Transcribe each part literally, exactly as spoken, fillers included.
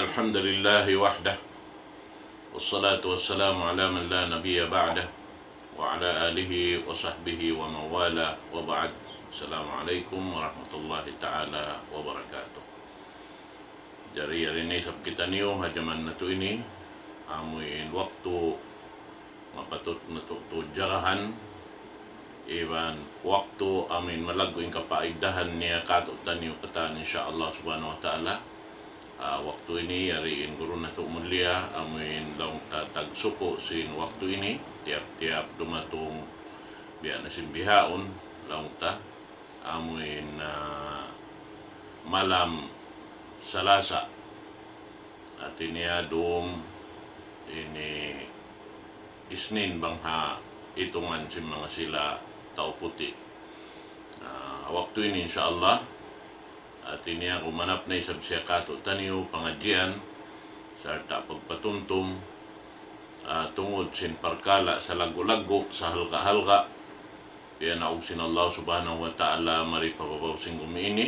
الحمد لله وحده، والصلاة والسلام على من لا نبي بعده، وعلى آله وصحبه ومن والاه، وبعد. السلام عليكم ورحمة الله تعالى وبركاته. Jari, yari na isab kitaniyu ha jaman natu' ini, amuin waktu mapatut natu' tuud jagahan, iban waktu amuin malaggu' in kapaidahan niya kātu'niyu katān, insya Allah subhanahu wa ta'ala. Ah, waktu ini, yari in guru natu' mulia, amuin laung ta tagsuku' sin waktu ini, tiyap-tiyap dumatung biya' na sin bihaun, laung ta, amuin, ah, malam Salasa. Hāti niya dum ini Isnin bang ha itungan sin manga sila tau puti'. Ah, waktu ini, insya Allah, hāti niya kumanap na isab siya kātu'niyu pangadjian, sarta' pagpatumtum, ah, tungud sin parkala' salaggu'-laggu', sahalga'-halga', piyanaug sin Allah subhanahu wa ta'ala mari pa babaw sin gumi ini,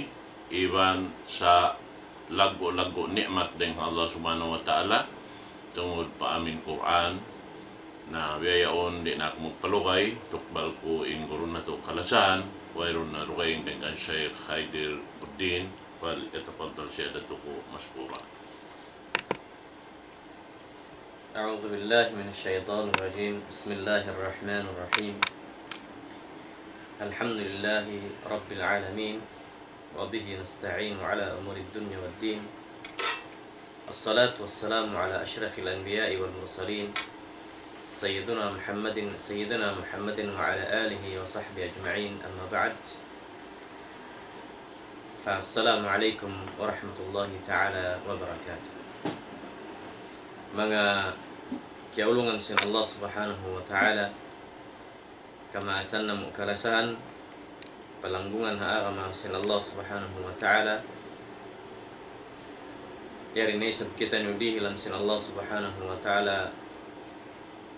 iban salaggu'-laggu' ni'mat dayn ha Allah subhanahu wa ta'ala, tungud pa amuin Qur'an. Na biya' yaun, di' na aku magpalugay, tukbal ku in guru natu' kalasahan, wayruun na lugay dayn kan Shaykh Khaidir Buddin, فليتفضل سيادته مشكورا. أعوذ بالله من الشيطان الرجيم. بسم الله الرحمن الرحيم. الحمد لله رب العالمين، وبه نستعين على أمور الدنيا والدين. الصلاة والسلام على أشرف الأنبياء والمرسلين، سيدنا محمد، سيدنا محمد وعلى آله وصحبه أجمعين، أما بعد. فالسلام عليكم ورحمة الله تعالى وبركاته. Manga kiyaulungan sin Allah subhanahu wa ta'ala, kamaasan namu' kalasahan, palanggungan ha agama sin Allah subhanahu wa ta'ala, yari na isab kitaniyu dihilan sin Allah subhanahu wa ta'ala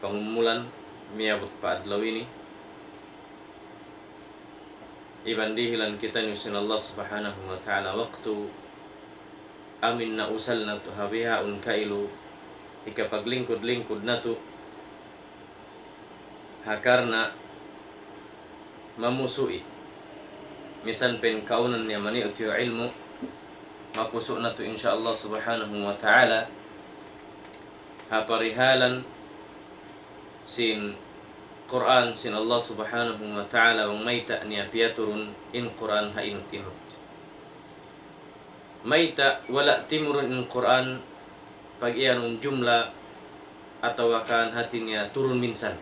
pangumulan, miyabut pa adlaw ini. Iban dihilan kitaniyu sin Allah subhanahu wa ta'ala waktu amuin nausal natu' ha bihaun kailu, hikapaglingkud-lingkud natu', ha karna' mamusu'i. Misan pa in kaawnan niya maniyu' tiyu' ilmu', mapusu' natu' insya Allah subhanahu wa ta'ala, ha parihalan sin Qur'an sin Allah subhanahu wa ta'ala, bang mayta' niya piyaturun in Qur'an ha inut-inut. Mayta' wala' timurun in Qur'an, pag-iyanun jumla atawa kan hāti niya turun minsan.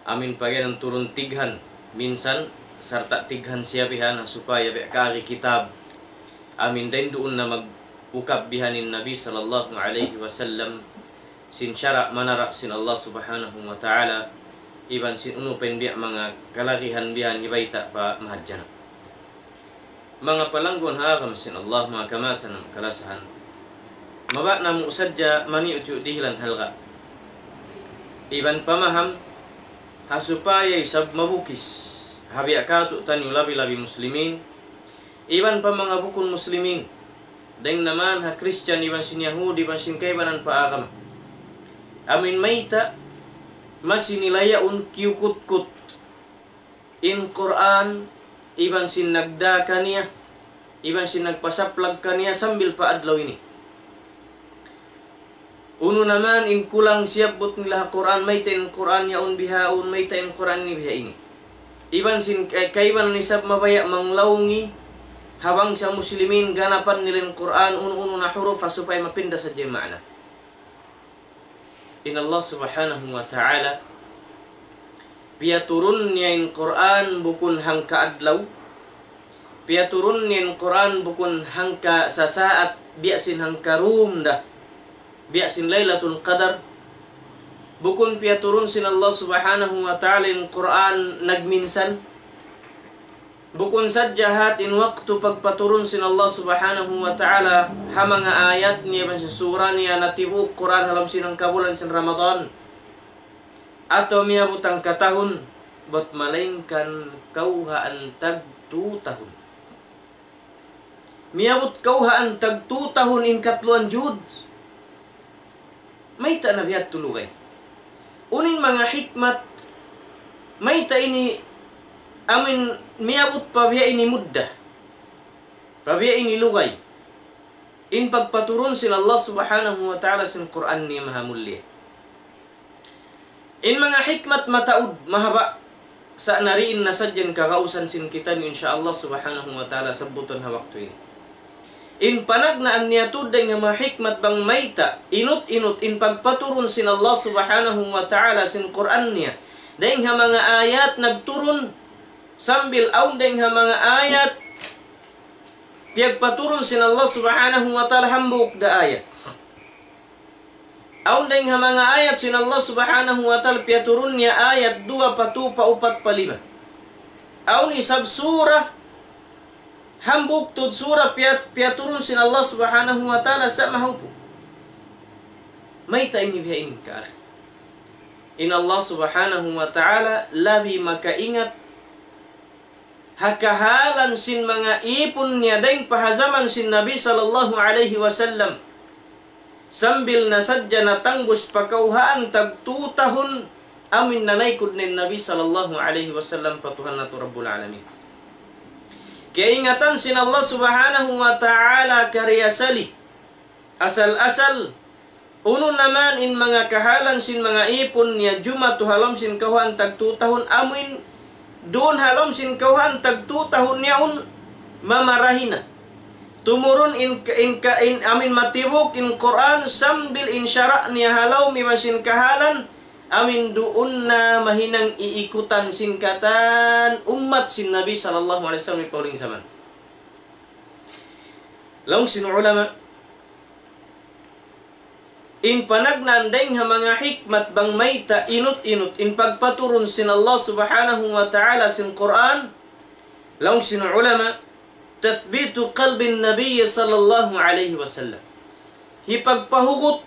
Amuin pag-iyanun turun tighan minsan, sarta' tighan siya bihan, supaya biya' kaagi kitab. Amuin dayn duun na mag-ukab bihan in Nabi sallallahu alayhi wasallam sin sara' manara' sin Allah subhanahu wa ta'ala, iban sin unu pa in biya' manga kalagihan bihan hibayta' pa mahadjana. Manga palangguan ha agama sin Allah, manga kamaasan namu' kalasahan. Mabaya' namu' sadja maniyu' tiyu' dihilan halga'. Iban pamaham, ha supaya isab mabukis. Ha biya' kātu'niyu labi-labi muslimin. Iban pa manga bukun muslimin. Dayn naman ha Christian, iban sin Yahudi, iban sin kaibanan pa agama. Amuin mayta', masi nila yaun kiyukutkut in Qur'an, iban sin nagdā kaniya, iban sin nagpasaplag kaniya sambil pa adlaw ini. Unu naman in kulang siyabbut nila ha Qur'an, mayta' in Qur'an yaun bihaun, mayta' in Qur'an ini biha ini. Iban sin ka-, kaibanan isab mabaya' manglaungi ha bangsa muslimin ganapan nila in Qur'an, unu-unu na huruf, ha supaya mapinda sadja in maana. In Allah subhanahu wa ta'ala, piyaturun niya in Qur'an bukun hangka adlaw, piyaturun niya in Qur'an bukun hangka sasaat, biya' sin hangka rum da, biya' sin Laylatul Qadar. Bukun piyaturun sin Allah subhanahu wa ta'ala in Qur'an nagminsan. Bukun sadja hat in waktu pagpaturun sin Allah subhanahu wa ta'ala ha manga ayat niya iban sin sura niya natibu' Qur'an ha lawm sin hangka bulan sin Ramadan. Atawa miyabut hangka tahun, bat malaingkan kawhaan tagtū tahun. Miyabut kawhaan tag tu tahun in katluan juhud. Mayta' na biya' ha yadtu lugay? Unu in manga hikmat, mayta' ini amuin miyabut pa biya' ini mudda, pa biya' ini lugay, in pagpaturun sin Allah Subhanahu wa Ta'ala sin Qur'an niya mahamulliya. In manga hikmat mataud, mahaba', sa' nariin na sadja in kagausan sin kitaniyu, insya Allah Subhanahu wa Ta'ala, sabbutan ha waktu ini. In panagnaan niya tuud dayn ha manga hikmat bang mayta', inut-inut in pagpaturun sin Allah Subhanahu wa Ta'ala sin Qur'an niya, dayn ha manga ayat nagturun, sambil awn dayn ha manga ayat piyagpaturun sin Allah Subhanahu wa Ta'ala hambuuk da ayat. Awn dayn ha manga ayat sin Allah Subhanahu wa Ta'ala piyaturun niya ayat duwa pa tu pa upat pa lima. Awn isab sura, hambuuk tuud sura piya-, piyaturun sin Allah Subhanahu wa Ta'ala sa' mahaupu'. Mayta' ini biya' ini ka akhi? In Allah Subhanahu wa Ta'ala labi makaingat ha kahalan sin manga ipun niya dayn pa ha jaman sin Nabi sallallahu alayhi wasallam. Sambil na sadja natangbus pa kawhaan tag tu tahun amuin nanaykud na in Nabi sallallahu alayhi wasallam pa Tuhan natu' Rabbul Alamin. Kaingatan sin Allah Subhanahu wa Ta'ala kariyasali. Asal-asal, unu na man in manga kahalan sin manga ipun niya jumatu ha lawm sin kawhaan tag tu tahun amuin duun ha lawm sin kawhaan tag tu tahun yaun mamarahi na. Tumurun in, in, in, amuin matibuk in Qur'an sambil in sara' niya ha lawm iban sin kahalan, amuin duun na mahinang iikutan sin katan ummat sin Nabi sallallahu alayhi wasallam pa huling jaman. Laung sin ulama, in panagnaan dayn ha manga hikmat bang mayta' inut-inut in pagpaturun sin Allah Subhanahu wa Ta'ala sin Qur'an, laung sin ulama, تثبيت قلب النبي صلى الله عليه وسلم. Hipagpahugut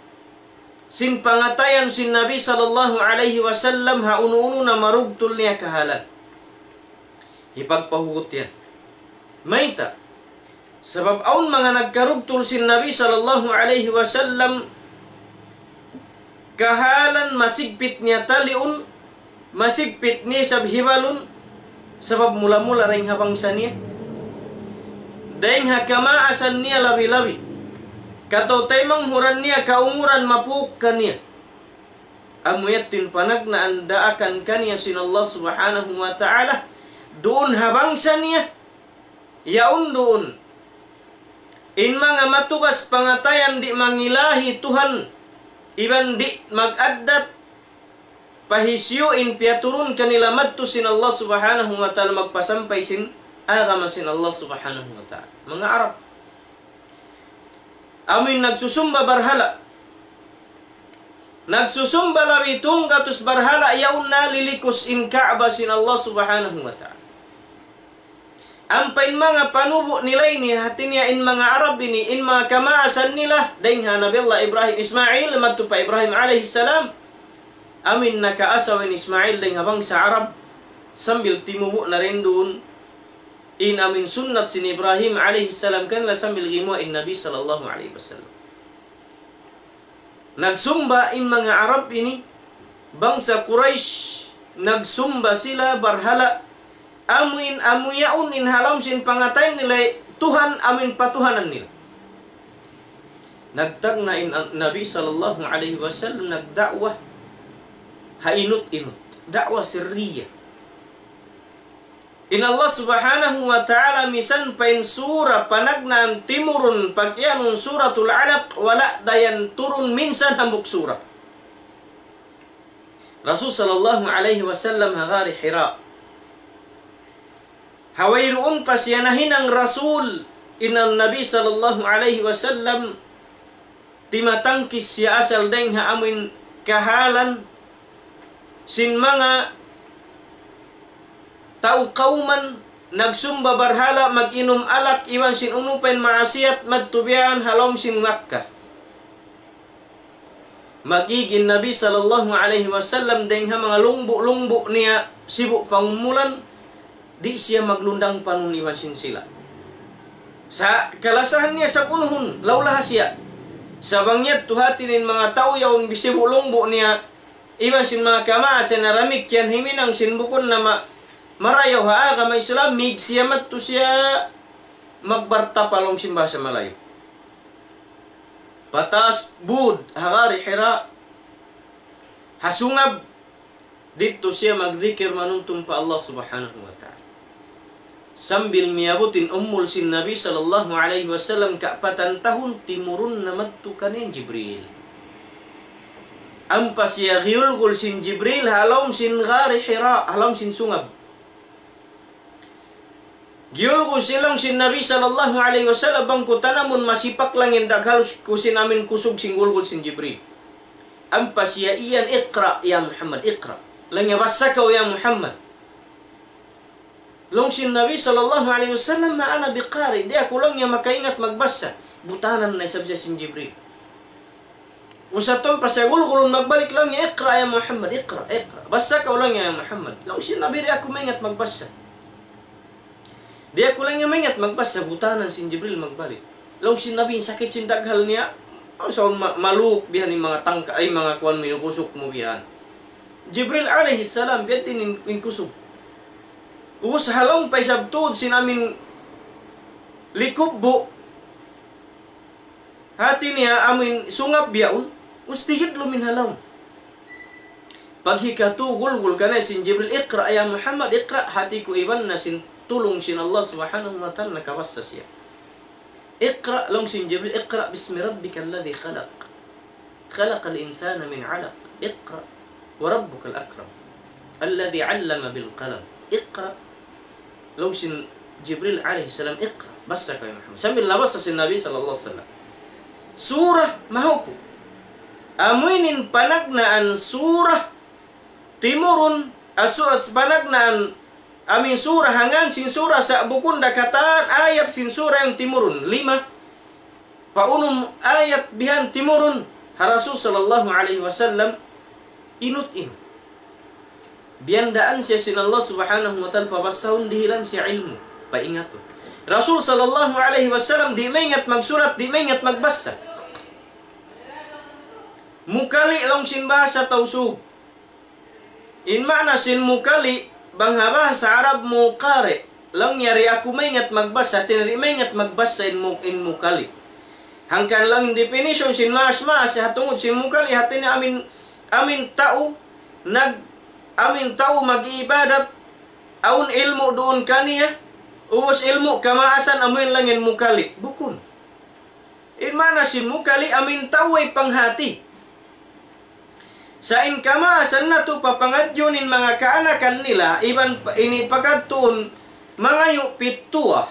sin pangatayan sin Nabi sallallahu alayhi wasallam ha unu-unu na marugtul niya kahalan. Hipagpahugut yan. Mayta'? Sabab awn manga nagkarugtul sin Nabi sallallahu alayhi wasallam kahalan masigpit niya taliun, masigpit niya isab hibalun, sabab mula-mula dayn ha bangsa niya. Dayn ha kamaasan niya labi-labi. Kataw-taymanghuran niya kaumuran mapuk kaniya. Amu yadtu in panagnaan daakan kaniya sin Allah Subhanahu wa Ta'ala, duun ha bangsa niya, yaun duun in manga matugas pangatayan di' mangilahi Tuhan, iban di' mag-addat pa hisiyu in piyaturun kanila madtu sin Allah Subhanahu wa Ta'ala magpasampay sin agama sin Allah Subhanahu wa Ta'ala. Manga Arab. Amuin nagsusumba barhala'. Nagsusumba labi tunggatus barhala' yaun nalilikus in Ka'bah sin Allah Subhanahu wa Ta'ala. Ampa in manga panubu' nila ini, hati niya in manga Arab ini, in manga kamaasan nila, dayn ha Nabi Allah Ibrahim, Ismail, madtu pa Ibrahim alayhi salam. Amuin nakaasawa in Ismail dayn ha bangsa Arab, sambil timubu' na rin duun in amuin sunnat sin Ibrahim alayhi salam kanila sambil gimuwa' in Nabi sallallahu alayhi wasallam. Nagsumba in manga Arab ini, bangsa Quraysh, nagsumba sila barhala', amuin amu yaun in ha lawm sin pangatayan nila Tuhan amuin patuhanan nila. Nagtagna' in Nabi sallallahu alayhi wasallam nagda'wa ha inut-inut. Da'wa sirriya. In Allah Subhanahu wa Ta'ala misan pa in sura panagnaan timurun pag'iyanun Suratul Alaq, wala' da yan turun minsan hambuuk sura. Rasul sallallahu alayhi wasallam ha Ghari Hira. Ha wayruun pa siya nahinang Rasul, in Nabi sallallahu alayhi wasallam timatangkis siya asal dayng ha amuin kahalan sin manga tau kawman nagsumba barhala', mag-inum alak, iban sin unu pa in maasiyat, madtu biya' ha lawm sin Makkah. Mag-ig in Nabi sallallahu alayhi wasallam dayng ha manga lungbu'-lungbu' niya sibu' pangumulan, di' siya maglundang panun iban sin sila. Sa' kalasahan niya sa' unuhun, laulaha siya. Sa' bang yadtu hati niya in manga tau yaun bisibu' lungbu' niya, iban sin manga kamaasan na damikkiyan himinang sin bukun na ma-, marayaw ha agama Islam, mīg siya madtu siya magbartapa laung sin bahasa Malayu. Pataas bud ha Gari Hira, ha sungab, didtu siya magdikir manumtum pa Allah Subhanahu wa Ta'ala. Sambil miyabut in umul sin Nabi sallallahu alayhi wasallam kaapatan tahun, timurun na madtu kaniya in Jibril. Ampa siya giyulgul sin Jibril ha lawm sin Gari Hira, ha lawm sin sungab. Giyulgul siya laung sin Nabi sallallahu alayhi wasallam bang ku tanamun masipak lang in daghal ku sin amin kusug sin gulgul sin Jibril. Ampa siya iyan, "Iqra ya Muhammad, iqra." Laung niya, "Bassa kaw ya Muhammad." Laung sin Nabi sallallahu alayhi wasallam, "Ma ana biqari." Di' aku laung niya makaingat magbassa. Butanan na isab siya sin Jibril. Usatun pa siya gulgulun magbalik laung niya, "Iqra ya Muhammad, iqra, iqra." "Bassa kaw laung niya ya Muhammad." Laung sin Nabi, "Di' aku maingat magbassa." "Di' aku laung niya maingat magbassa." Butanan sin Jibril magbalik. Laung sin Nabi, sakit sin daghal niya. Aw, saun ma-, maluk bihan in manga tangka, ay, manga kuwan minugusuk mu bihan. Jibril alayhi salam, biya' diin in, in kusug. Ubus ha lawm pa isab tuud sin amin likubbu'. Hati niya amin sungab bihaun, ubus tigidlum in ha lawm. Paghikatu gulgul kaniya sin Jibril, "Iqra ya Muhammad, iqra." Hati ku iban na sin tulung sin Allah Subhanahu wa Ta'ala nakabassa siya. "Iqra," laung sin Jibril, "iqra bismi rabbika alladhi khalaq. Khalaqal insana min alaq. Iqra wa rabbukal akram. Alladhi allama bil qalam. Iqra." Laung sin Jibril alayhi salam, "Iqra." Bassa kaw ya Muhammad. Sambil nabassa sin Nabi sallallahu alayhi wasallam. Surah mahuput. Amu ini in panagnaan surah timurun, asu-, as-, panagnaan amin surah, hangkan sin surah sa' bukun da katan ayat sin surah yan timurun. Lima pa unum ayat bihan timurun ha Rasul sallallahu alayhi wasallam, inut-inut. Biyandaan siya sin Allah Subhanahu wa Ta'ala, pabassahun, dihilan siya ilmu', paingatun. Rasul sallallahu alayhi wasallam di' maingat magsulat, di' maingat magbassa. Mukali' laung sin bahasa Tausug. In maana sin mukali', bang ha bahasa Arab mu qari'. Laung niya di' aku maingat magbassa, hati niya di' maingat magbassa in mu-, in mukali'. Hangkan laung in definition sin maas-maas, ha tungud sin mukali', hati niya amin, amin tau, nag-, amin tau mag-ibadat, awn ilmu' duun kaniya, ubus ilmu' kamaasan, amu yan laung in mukali'. Bukun. In maana sin mukali', amin tau way panghati. Sa' in kamaasan natu' papangadjiun in manga kaanakan nila, iban pa-, ini pakadtuun mangayu' pittuwa.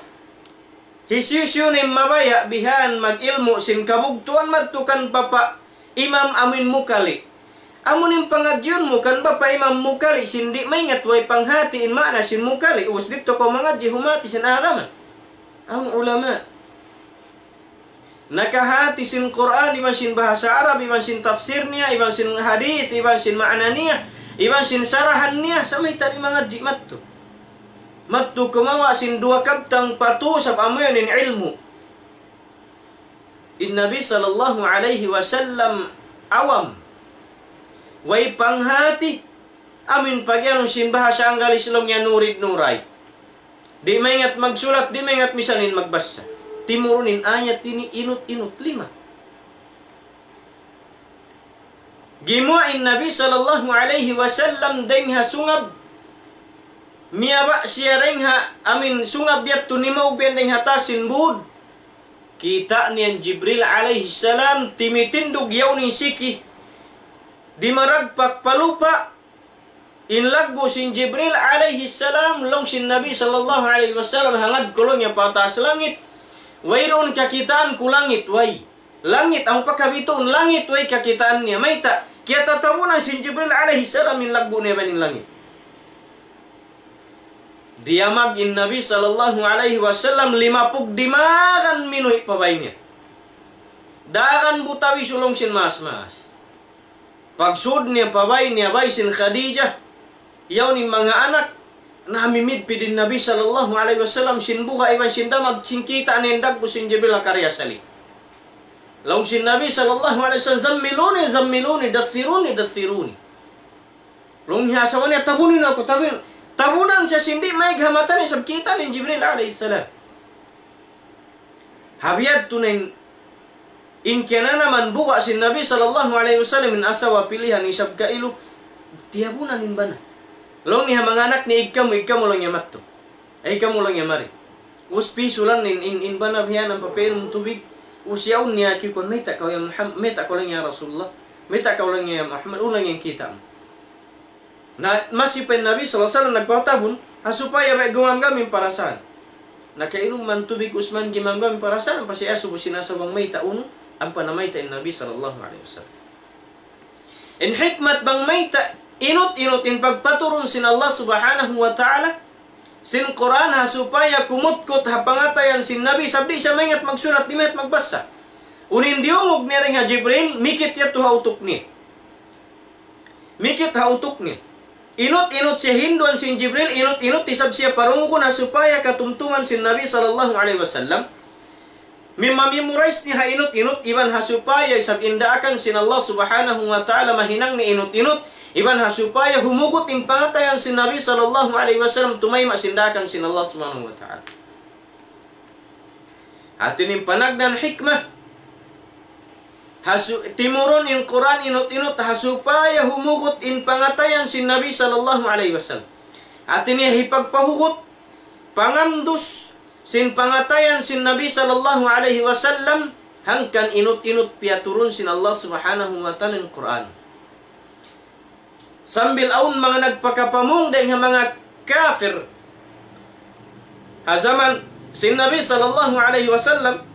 Hisiyu-siyu in mabaya' bihan mag-ilmu' sin kabugtuan madtu kan papa imam amin mukali'. Amu in pangadjiun mu kan bapa imam mukali' sin di' maingat way panghati in maana sin mukali', ubus didtu kaw mangadji' humati sin agama. Awn ulama nakahati sin Qur'an, iban sin bahasa Arab, iban sin tafsir niya, iban sin hadith, iban sin maana niya, iban sin sarahan niya, sa' mayta' di' mangadji' madtu. Madtu kumawa' sin duwa kabtang pa tū, sabab amu yan in ilmu'. In Nabi sallallahu alayhi wasallam awam. Way panghati, amin pagiyanun sin bahasa Anggalis laung niya nurid nuray. Di' maingat magsulat, di' maingat misan in magbassa. Timurun in ayat ini inut-inut lima. Gimuwa' in Nabi sallallahu alayhi wasallam dayng ha sungab, miyaba' siya dayng ha, amin sungab yadtu nimaug biyan dayng ha taas sin būd. Kita' niya in Jibril alayhi salam, timitindug yaun in siki. Dimaragpak pa lupa', in laggu' sin Jibril alayhi salam, laung sin Nabi sallallahu alayhi wasallam, hangad ku laung niya pa taas langit, wayruun kakitaan ku langit, way. Langit, amu pa kabituun, langit, way kakitaan niya. Mayta', kiyatatabunan sin Jibril alayhi salam in laggu' niya iban in langit. Diyamag in Nabi sallallahu alayhi wasallam, limapug dimagan minuhi' pa bay niya. Dagan butawi sulung sin maas-maas. Pagsud niya pa bay niya, bay sin Khadijah, yaun in manga anak, Namimidpid in Nabi sallallahu alayhi wasallam sin buga' iban sin damag, sin kita' niya in dagbu' sin Jibril ha kariya salin. Laung sin Nabi sallallahu alayhi wasallam, "زملوني، زملوني، دثروني، دثروني." Laung niya asawa niya, "Tabuni na aku, tabuni." Tabunan siya sin di' maig ha mata niya, isab kita' niya in Jibril alayhi salam. Ha biya' yadtu na in, in kiyananaman buga' sin Nabi sallallahu alayhi wasallam in asawa pilihan isab kailu, tiyabunan in bana. Laung niya ha manga anak niya, "Ig kamu, ig kamu laung niya madtu. Ay kamu laung niya mari." Ubus pisulan in, in, in bana biya' na papainum tubig. Ubus yaun niya kikuan, "Mayta' kaw ya Muhammad, mayta' kaw laung niya Rasulullah. Mayta' kaw laung niya Muhammad, unu laung niya in kita' mu." Na, masi pa in Nabi sallallahu alayhi wasallam nagpatabun, ha supaya bang gumamgam in parasahan. Nakainuman tubig Usman, gimamgam in parasahan, ampa siya asubu sin asawa bang mayta' unu, ampa namayta' in Nabi sallallahu alayhi wasallam. In hikmat bang mayta', inut-inut in pagpaturun sin Allah subhanahu wa ta'ala, sin Qur'an ha supaya kumutkut ha pangatayan sin Nabi, sabab di' siya maingat magsulat, di' maingat magbasa. Unu in diyungug niya dayn ha Jibril, mikit yadtu ha utuk niya. Mikit ha utuk niya. Inut-inut siya hinduan sin Jibril, inut-inut isab siya parungugun ha supaya katumtuman sin Nabi sallallahu alayhi wasallam. Mimamemorize niya ha inut-inut, iban ha supaya isab in daakan sin Allah subhanahu wa ta'ala mahinang niya inut-inut, iban ha supaya humugut in pangatayan sin Nabi sallallahu alayhi wasallam tumayma' sin daakan sin Allah subhanahu wa ta'ala. Hati niya in panagnaan hikmah. Ha su-, timurun in Qur'an inut-inut ha supaya humugut in pangatayan sin Nabi sallallahu alayhi wasallam. Hati niya hipagpahugut, pangamdus sin pangatayan sin Nabi sallallahu alayhi wasallam, hangkan inut-inut piyaturun sin Allah subhanahu wa ta'ala in Qur'an. Sambil awn manga nagpakapamung dayn ha manga kafir ha jaman sin Nabi sallallahu alayhi wasallam,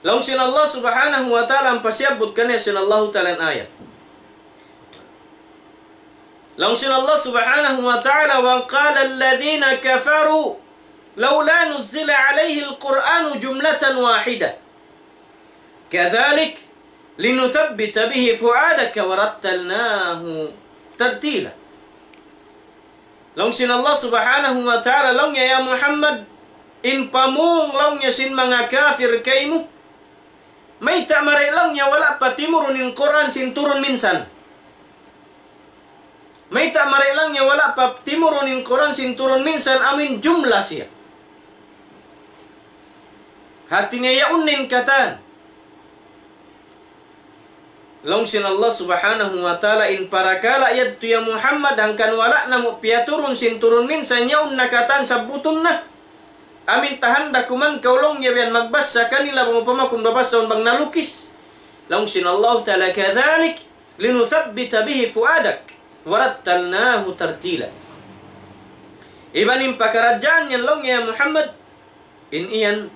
laung sin Allah subhanahu wa ta'ala, ampa siyabbut kaniya sin Allahu ta'ala in ayat. Laung sin Allah subhanahu wa ta'ala, وقال الذين كفروا لولا نزل عليه القرآن جملة واحدة كذلك لنثبت به فؤادك ورتلناه ترتيلا. Laung sin Allah subhanahu wa ta'ala, laung niya, "Ya Muhammad, in pamung," laung niya, "sin manga kafir kaymu, mayta' mari," laung niya, "wala' pa timurun in Qur'an sin turun minsan? Mayta' mari," laung niya, "wala' pa timurun in Qur'an sin turun minsan, amuin jumla siya?" Hati niya yaun na in katan. Laung sin Allah subhanahu wa ta'ala, "In parakala' yadtu ya Muhammad, hangkan wala' namu' piyaturun sin turun minsan, yaun na katan, sabbutun na. Amuin tahanda kuman kaw," laung niya, "biya' magbasa kanila, bang upama kun babasa bang nalukis." Laung sin Allah ta'ala, كذلك لنثبت به فؤادك ورتلناه ترتيلا. Iban in pakaradjaan yan, laung niya, ya Muhammad, in iyan,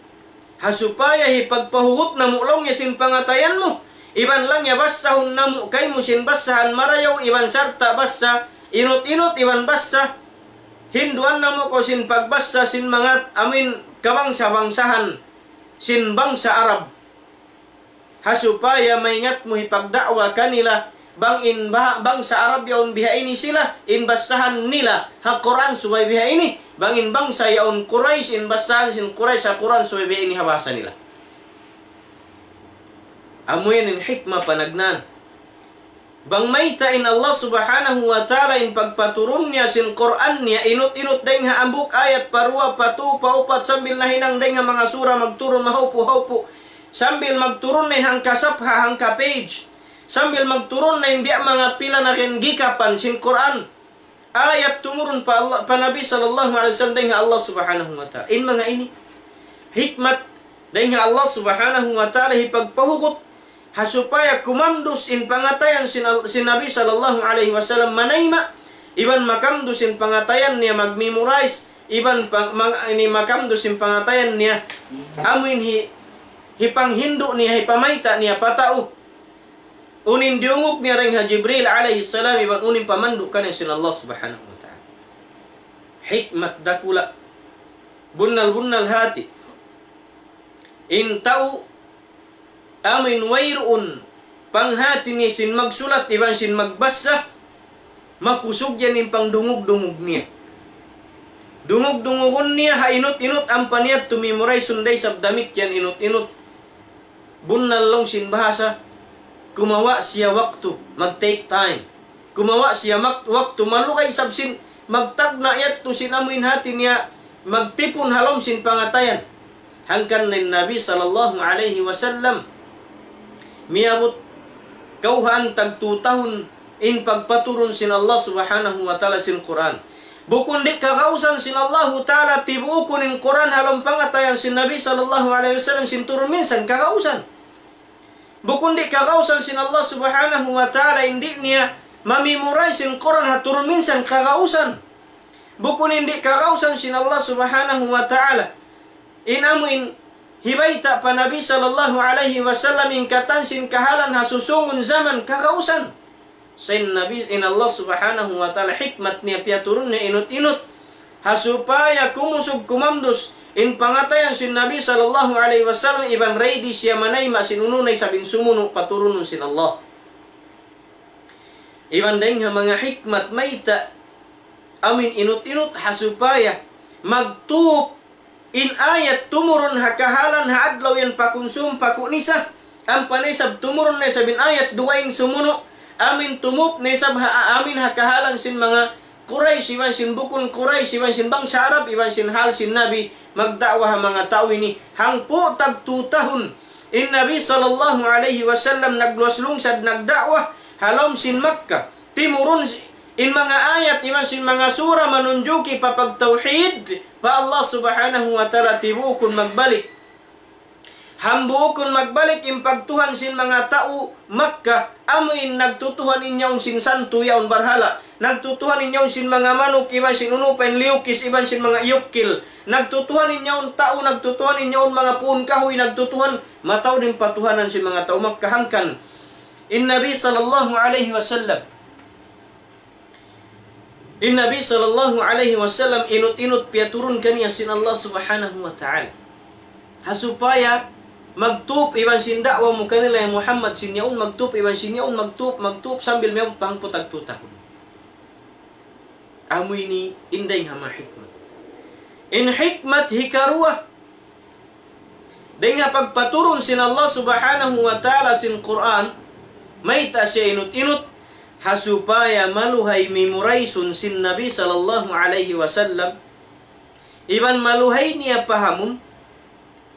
ha supaya hipagpahugut namu', laung niya, sin pangatayan mu, iban, laung niya, basahun namu' kaymu sin basahan marayaw, iban sarta' basa inut-inut, iban basa hinduan namu' kaw sin pagbasa sin manga, amuin, kabangsa-bangsahan sin bangsa Arab. Ha supaya maingat mu hipagda'wa kanila, bang in ba-, bangsa Arab yaun bihaini sila, in basahan nila ha Qur'an subay bihaini, bang in bangsa yaun Quraysh, in basahan sin Quraysh ha Qur'an subay bihaini ha bahasa nila. Amu yan in hikmah panagnaan. Bang mayta' in Allah subhanahu wa ta'ala in pagpaturun niya sin Qur'an niya, inut-inut dayng ha hambuuk ayat, pa duwa, pa tū, pa upat, sambil nahinang dayng ha manga sura magturun mahaupu'-haupu'. Sambil magturun na in hangka safha, hangka page. Sambil magturun na in biya' manga pila na kin gikapan sin Qur'an. Ayat tumurun pa Allah, pa Nabi sallallahu alayhi wasallam dayng ha Allah subhanahu wa ta'ala. In manga ini, hikmat dayng ha Allah subhanahu wa ta'ala hipagpahugut ha supaya kumamdus in pangatayan sin, sin Nabi sallallahu alayhi wasallam manayma', iban makamdus in pangatayan niya mag-memorize, iban pang-, mang-, ini makamdus in pangatayan niya, amu in hi-, hipanghindu' niya, hipamayta' niya pa tau. Unu in diyungug niya dayng ha Jibril alayhi salam, iban unu in pamandu' kaniya sin Allah subhanahu wa ta'ala. Hikmat dakula'. Bunnal-bunnal hati. In tau amuin wayruun panghati niya sin magsulat iban sin magbasa, makusug yan in pangdungug-dungug niya. Dungug-dungugun niya ha inut-inut ampa niya tumimuraysun da isab damikkiyan inut-inut. Bunnal laung sin bahasa, kumawa' siya waktu, mag-take time. Kumawa' siya mak-, waktu, malugay isab sin, magtagna' yadtu sin amuin hati niya, magtipun ha lawm sin pangatayan. Hangkan in Nabi sallallahu alayhi wasallam, miyabut kawhaan tag tū tahun in pagpaturun sin Allah subhanahu wa ta'ala sin Qur'an. Bukun di' kagausan sin Allahu ta'ala tibuukun in Qur'an ha lawm pangatayan sin Nabi sallallahu alayhi wasallam sin turun minsan, kagausan. Bukun di' kagausan sin Allah subhanahu wa ta'ala in di' niya mamimurize sin Qur'an ha turun minsan, kagausan. Bukun in di' kagausan sin Allah subhanahu wa ta'ala in amuin hibayta' pa Nabi sallallahu alayhi wasallam in katan sin kahalan ha susungun jaman, kagausan. Sa' in Nabi, in Allah subhanahu wa ta'ala hikmat niya piyaturun niya inut-inut. Ha supaya kumusug kumamdus in pangatayan sin Nabi sallallahu alayhi wasallam iban ready siya manayma' sin unu na isab in sumunu' paturunun sin Allah. Iban dayng ha manga hikmat mayta' amuin inut-inut ha supaya magtup in ayat tumurun ha kahalan ha adlaw yan pakunsum pakunisa. Ampa na isab tumurun na isab in ayat dugaing sumunu'. Amuin tumup na isab ha amuin ha kahalan sin manga Quraysh iban sin bukun Quraysh iban sin bangsa Arab iban sin hal sin Nabi magda'wa ha manga tau ini. Hangpu' tag tū tahun in Nabi sallallahu alayhi wasallam nagluwas lungsad nagda'wa ha lawm sin Makkah. Timurun in manga ayat iban sin manga sura manunjuki pa pagtawhid pa Allah subhanahu wa ta'ala tibuukun magbalik. Hambuukun magbalik in pagtuhan sin manga tau Makkah, amuin nagtutuhan in yaun sin santu yaun barhala', nagtutuhan in yaun sin manga manuk iban sin unu pa in liyukis iban sin manga iyukil, nagtutuhan in yaun tau, nagtutuhan in yaun manga puun kahuy, nagtutuhan, mataud in patuhanan sin manga tau Makkah hangkan in Nabi sallallahu alayhi wasallam. In Nabi sallallahu alayhi wasallam inut-inut piyaturun kaniya sin Allah subhanahu wa ta'ala. Ha supaya magtup iban sin da'wa mu kanila ya Muhammad sin yaun, magtup iban sin yaun, magtup, magtup, sambil miyabut pa hangpu' tag tū tahun. Amu ini in dayng ha manga hikmat. In hikmat hikaruwa, dayng ha pagpaturun sin Allah subhanahu wa ta'ala sin Qur'an, mayta' siya inut-inut, ha supaya maluhay memorize-un sin Nabi sallallahu alayhi wasallam, iban maluhay niya pahamun,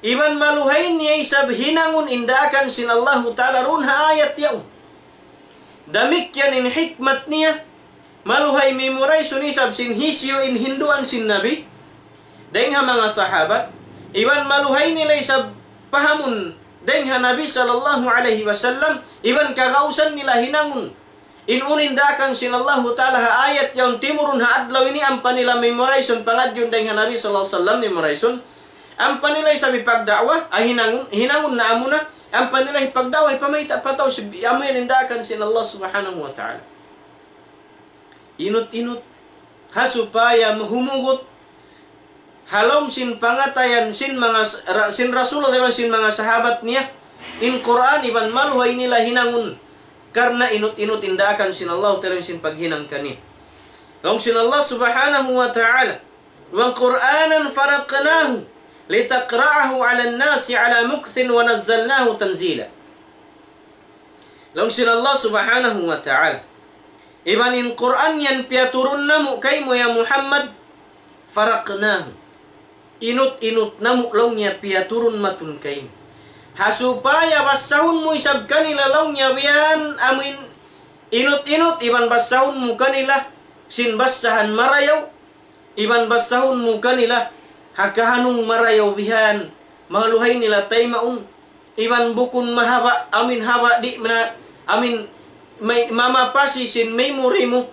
iban maluhay niya isab hinangun in daakan sin Allahu ta'ala duun ha ayat yaun. Damikkiyan in hikmat niya, maluhay memorize-un isab sin hisiyu in hinduan sin Nabi, dayng ha manga sahabat, iban maluhay nila isab pahamun dayng ha Nabi sallallahu alayhi wasallam, iban kagausan nila hinangun in unu in daakan sin Allahu ta'ala ha ayat yaun timurun ha adlaw ini ampa nila memorize-un, pangadjiun dayng ha Nabi sallallahu alayhi wasallam memorize-un, ampa nila isab hipagda'wa, ah, hinangun, hinangun na amuna, ampa nila hipagda'wa, hipamayta' pa tau, sib-, amu yan in daakan sin Allah subhanahu wa ta'ala. Inut-inut, ha supaya mahumugut ha lawm sin pangatayan sin manga s-, ra-, sin Rasulullah iban sin manga sahabat niya, in Qur'an iban maluhay nila hinangun, karna' inut-inut in daakan sin Allah ta'ala sin paghinang kaniya. Laung sin Allah subhanahu wa ta'ala, وقرآنا فرقناه لتقرأه على الناس على مكث ونزلناه تنزيلا. Laung sin Allah subhanahu wa ta'ala, iban in Qur'an yan piyaturun namu' kaymu ya Muhammad, فرقناه. Inut-inut namu' laung niya piyaturun matun kaymu. Ha supaya bassahun mu isab kanila laung niya biya' yan amuin inut-inut iban bassahun mu kanila sin bassahan marayaw, iban bassahun mu kanila ha kahanung marayaw bihan, maluhay nila taymaun, iban bukun mahaba', amin haba' di' na, amin may, mamapasi sin memory mu,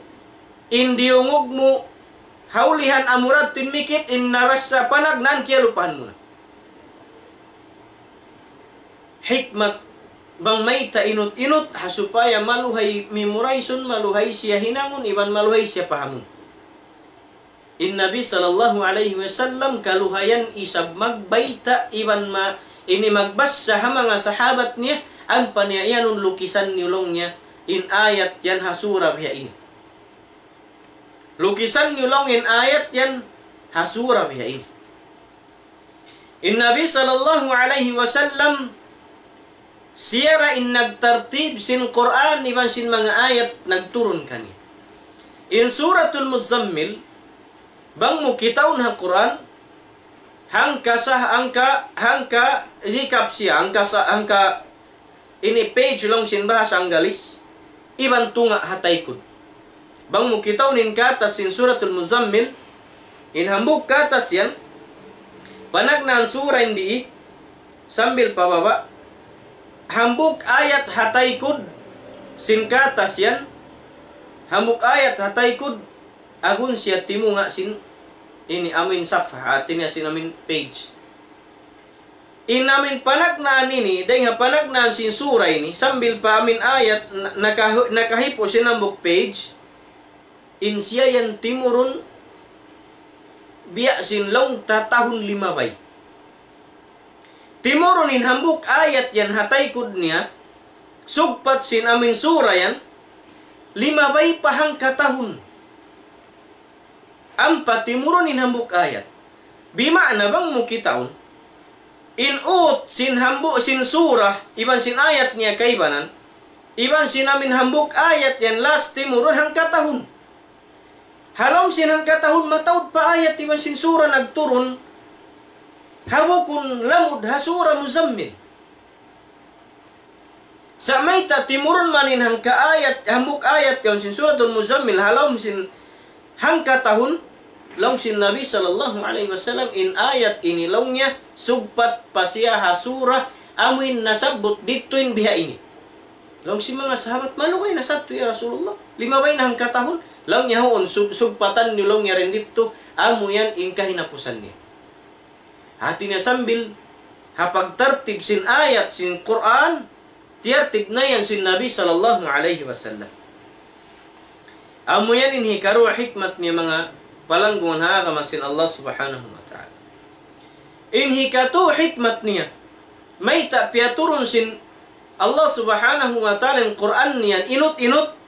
in diyungug mu, ha ulihan amura timikit, in nabassa panagnaan kiyalupahan mu na. Hikmat bang mayta' inut-inut, ha supaya maluhay memorize-un, maluhay siya hinangun, iban maluhay siya pahamun. In Nabi sallallahu alayhi wasallam kaluhayan isab magbayta' iban ma-, ini magbassa ha manga sahabat niya, ampa niya iyanun lukisan niyu laung niya, in ayat yan ha sura biya' ini. Lukisan niyu laung in ayat yan, ha sura biya' ini. In Nabi sallallahu alayhi wasallam, siya ra in nagtartib sin Qur'an iban sin manga ayat nagturun kaniya. In Suratul Muzammil, bang mu kitaun ha Qur'an, hangka sah, hangka, hangka recap siya, hangka sa-, hangka ini page laung sin bahasa Anggalis, iban tunga' ha taykud. Bang mu kitaun in katas sin Suratul Muzammil, in hambuuk katas yan, panagnaan sura in dii, sambil pa baba', hambuuk ayat ha taykud sin katas yan, hambuuk ayat ha taykud, agun siya timunga' sin ini amuin safha, hati niya sin amuin page. In amuin panagnaan ini, dayn ha panagnaan sin sura ini, sambil pa amuin ayat, na-, nakahu-, nakahipu' sin hambuuk page, in siya yan timurun biya' sin laung ta tahun limabay. Timurun in hambuuk ayat yan ha taykud niya, sugpat sin amuin sura yan, limabay pa hangka tahun. Ampa timurun in hambuuk ayat. Bima'na bang mu kitaun, in ut sin hambuuk sin sura, iban sin ayat niya kaibanan, iban sin amuin hambuuk ayat yan last timurun hangka tahun. Ha lawm sin hangka tahun mataud pa ayat iban sin sura nagturun, ha bukun lamud ha sura Muzammil. Sa' mayta' timurun man in hangka ayat, hambuuk ayat yaun sin Suratul Muzammil, ha lawm sin hangka tahun, laung sin Nabi sallallahu alayhi wasallam, in ayat ini laung niya, sugpat pa siya ha sura, amuin nasabbut didtu in biha ini. Laung sin manga sahabat, "Malugay na sadtu ya Rasulullah. Limabay na hangka tahun." Laung niya, "Huun, sug-, sugpatan niyu laung niya dayn didtu, amu yan in kahinapusan niya." Hati niya sambil ha pagtartib sin ayat sin Qur'an, tiyartib na yan sin Nabi sallallahu alayhi wasallam. Amu yan in hikaruwa hikmat niya manga palanggungan ha agama sin Allah subhanahu wa ta'ala. In hikatū hikmat niya, mayta' piyaturun sin Allah subhanahu wa ta'ala in Qur'an niya inut-inut,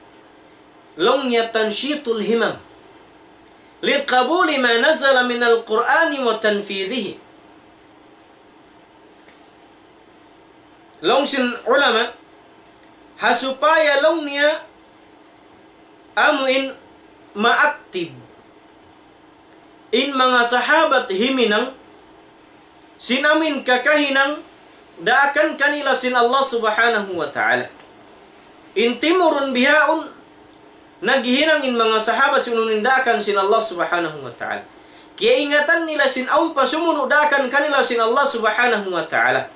laung niya تنشيط الهمم لقبول ما نزل من القرآن وتنفيذه. Laung sin ulama, ha supaya laung niya amuin ma-active in manga sahabat himinang, sin amuin kakahinang daakan kanila sin Allah subhanahu wa ta'ala. In timurun bihaun, naghihinang in manga sahabat sin unu in daakan sin Allah subhanahu wa ta'ala. Kiyaingatan nila sin awn pa sumunu' daakan kanila sin Allah subhanahu wa ta'ala.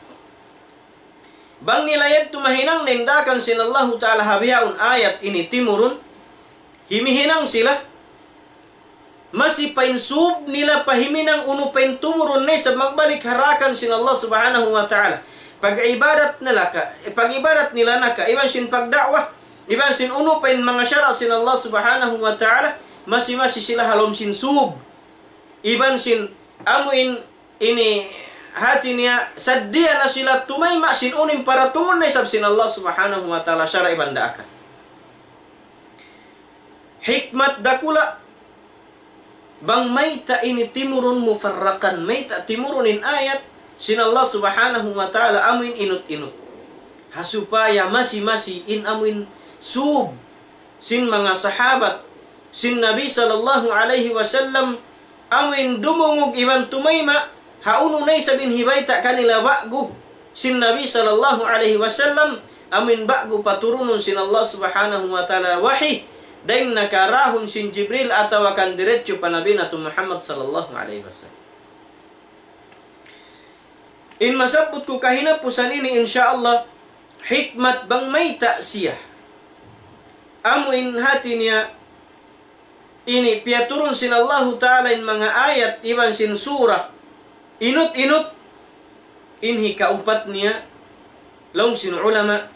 Bang nila yadtu mahinang na in daakan sin Allahu ta'ala ha bihaun ayat ini timurun, himihinang sila, masi pa in sūb nila pa himinang unu pa in tumurun na isab magbalik ha daakan sin Allah subhanahu wa ta'ala. Pag-ibadat nila ka, pag-ibadat nila na ka, iban sin pagda'wa, iban sin unu pa in manga sara' sin Allah subhanahu wa ta'ala, masi-masi sila ha lawm sin sūb. Iban sin amu in ini hati niya saddiya na sila tumayma' sin unu in paratungun na isab sin Allah subhanahu wa ta'ala sara' iban daakan. Hikmat dakula', bang mayta' ini timurun mufarraqan, mayta' timurun in ayat sin Allah subhanahu wa ta'ala amu in inut-inut. Ha supaya masi-masi in amu in sūb sin manga sahabat sin Nabi sallallahu alayhi wasallam, amu in dumungug iban tumayma' ha unu na isab in hibayta' kanila ba'gu sin Nabi sallallahu alayhi wasallam, amu in ba'gu paturunun sin Allah subhanahu wa ta'ala wahi, dayn ha karahun sin Jibril atawa kan diretso pa Nabi natu' Muhammad sallallahu alayhi wasallam. In masabbut ku kahinapusan ini, insya Allah, hikmat bang mayta' siya. Amu in hati niya ini piyaturun sin Allahu ta'ala in manga ayat iban sin sura. Inut-inut in hikaupat niya, laung sin ulama,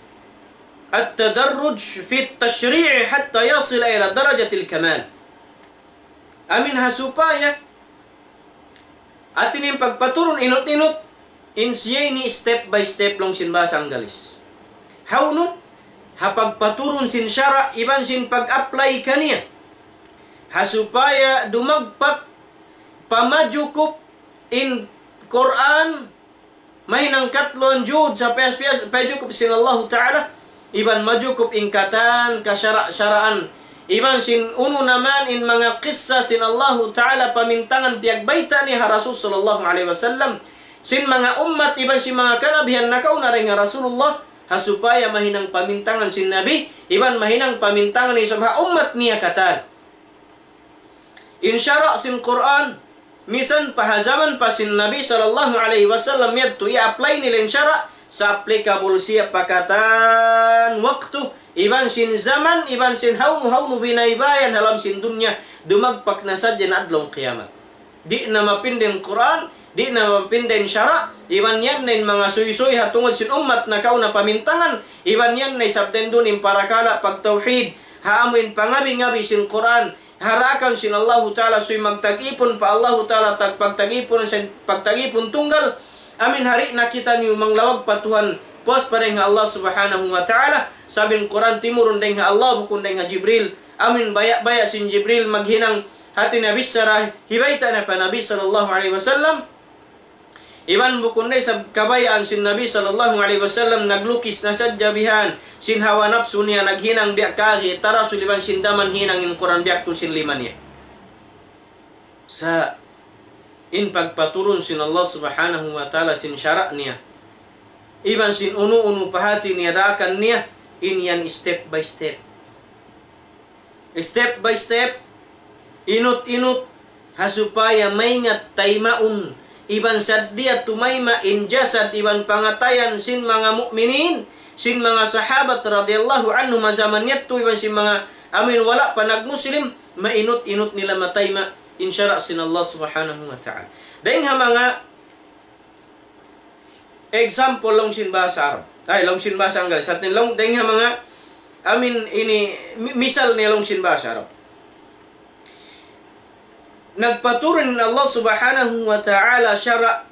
التدرج في التشريع حتى يصل إلى درجة الكمال. Amu in ha supaya hati niya in pagpaturun inut-inut, in siya ini step by step laung sin bahasa Anggalis. Hawnu? Ha pagpaturun sin sara' iban sin pag-apply kaniya. Ha supaya dumagpak, pamajukup in Qur'an, mahinang katluan juz, sa piyas-piyas, pajukup sin Allahu Ta'ala, iban majukup in katan kasara'-saraan, iban sin unu na man in manga kissa sin Allahu Ta'ala pamintangan piyagbayta' niya ha Rasul sallallahu alayhi wasallam, sin manga ummat iban sin manga kanabihan nakauna dayn ha Rasulullah, ha supaya mahinang pamintangan sin Nabi, iban mahinang pamintangan isab ha ummat niya katan. In sara' sin Qur'an, misan pa ha jaman pa sin Nabi sallallahu alayhi wasallam yadtu i-apply nila in sara', sa' applicable siya pa katan waktu, iban sin jaman, iban sin hawnu-hawnu binaybayan ha lawm sin dunya, dumagpak na sadja in adlaw qiyamat. Di' na mapinda in Qur'an, di' na mapinda in sara', iban yan na in manga suysuy ha tungud sin ummat nakauna pamintangan, iban yan na isab dayn duun in parakala' pagtawhid, ha amu in pangabi-ngabi sin Qur'an, ha daakan sin Allahu Ta'ala, subay magtag-ipun pa Allahu Ta'ala, tag-, pagtag-ipun sin, pagtag-ipun tunggal, amin hari na kitaniyu manglawag pa Tuhan, puas pa dayn ha Allah Subhanahu wa Ta'ala, sabab in Qur'an timurun dayn ha Allah, bukun dayn ha Jibril, amin baya'-baya' sin Jibril maghinang hati niya bichara, hibayta' niya pa Nabi sallallahu alayhi wasallam, iban bukun na isab kabayaan sin Nabi sallallahu alayhi wasallam naglukis na sadja bihan sin hawa napsu niya naghinang biya' kagi tarasul iban sin daman hinang in Qur'an biya' kul sin lima niya. Sa' in pagpaturun sin Allah Subhanahu wa Ta'ala sin sara' niya, iban sin unu-unu pa hati niya daakan niya, in yan step by step. Step by step, inut-inut, ha supaya maingat taymaun, iban sadja tumayma' in jasad iban pangatayan sin manga mu'minin, sin manga sahabat radiyallahu anhum ha jaman yadtu, iban sin manga amin wala' pa nagmuslim, mainut-inut nila matayma' in sara' sin Allah Subhanahu wa Ta'ala. Dayn ha manga example laung sin bahasa Arab. Ay, laung sin bahasa Anggalis. Sa' atin laung, dayn ha manga, amin ini, mi-, misal niya laung sin bahasa Arab. Nagpaturun in Allah Subhanahu wa Ta'ala sara',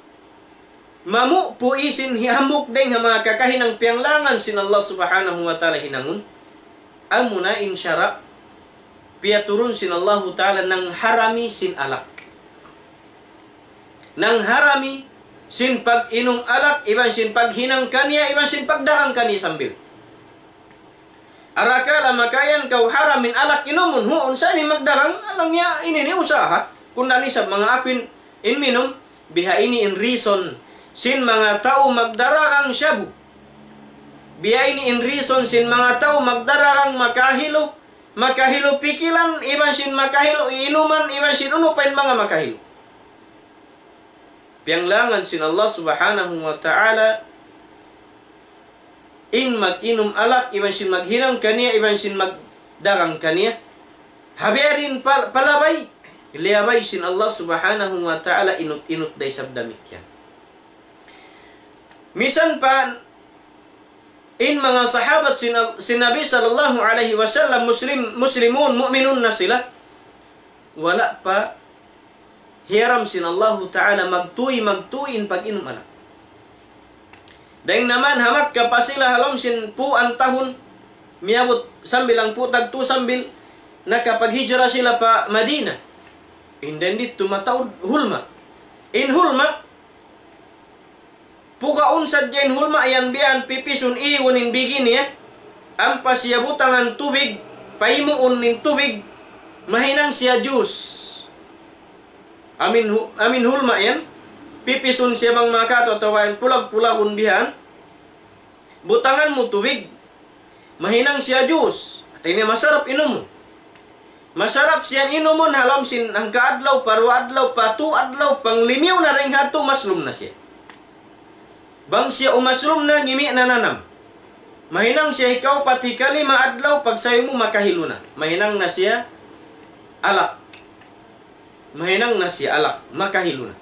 mamu' pu isin hi-, hambuuk dayn ha manga kakahinang piyanglangan sin Allah Subhanahu wa Ta'ala hinangun. Amuna in sara', piyaturun sin Allahu Ta'ala nangharami sin alak. Nangharami sin pag-inum alak, iban sin paghinang kaniya, iban sin pagdagang kaniya sambil. Arakala' makayan kaw haram in alak inumun, huun sa ini magdagang, alang niya ini in usaha. Kunda' isab manga aku in, in minum, biha ini in reason sin manga tau magdaragang shabu. Biha ini in reason sin manga tau magdaragang makahilu, makahilu pikilan, iban sin makahilu inuman, iban sin unu pa in manga makahilu. Piyanglangan sin Allah Subhanahu wa Ta'ala, in mag-inum alak, iban sin maghinang kaniya, iban sin magdagang kaniya. Ha biya' diin pa-, palabay, liyabay sin Allah Subhanahu wa Ta'ala inut-inut da isab damikkiyan. Misan pa in manga sahabat sin, sin Nabi sallallahu alayhi wasallam, Muslim, Muslimun, mu'minun na sila. Wala' pa hiyaram sin Allahu Ta'ala magtuy, magtuy in pag-inum alak. Dayn naman ha Makkah pa sila ha lawm sin puan tahun, miyabut sambil hangpu' tagtu sambil nakapaghijra sila pa Madinah. In dayn didtu mataud hulma'. In hulma', pugaun sadja in hulma' yan biya' pipisun iwun in bigi niya, ampa siya butangan tubig, paimuun in tubig, mahinang siya juice. Amin hu-, amin hulma' yan, pipisun siya bang makatu atawa pulag-pulagun bihan, butangan mu tubig, mahinang siya juice. Hati niya masarap inumun. Masarap siya inumun ha lawm sin hangka adlaw, pa duwa adlaw, pa tū adlaw, panglimiyu na dayn ha yadtu, umaslum na siya. Bang siya umaslum na, ngimi' na nanam. Mahinang siya hikaupat, hikalima adlaw, pagsayu mu makahilu na. Mahinang na siya alak. Mahinang na siya alak, makahilu na.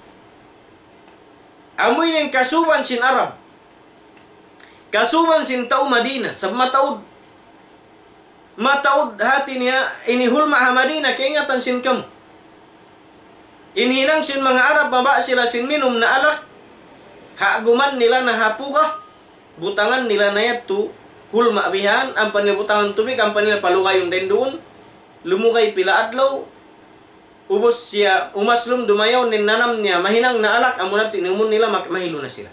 Amu ini in kasuban sin Arab. Kasuban sin tau Madina, sabab mataud. Mataud hati niya, ini hulma' ha Madina, kaingatan sin kamu. In hinang sin manga Arab, mabaya' sila sin minum na alak, ha guman nila na ha puga, butangan nila na yadtu, hulma' bihan, ampa nila butangan tubig, ampa nila palugayun dayn duun, lumugay pila adlaw, ubus siya umaslum dumayaw in nanam niya, mahinang na alak, amu na yadtu inumun nila, mak-, mahilu na sila.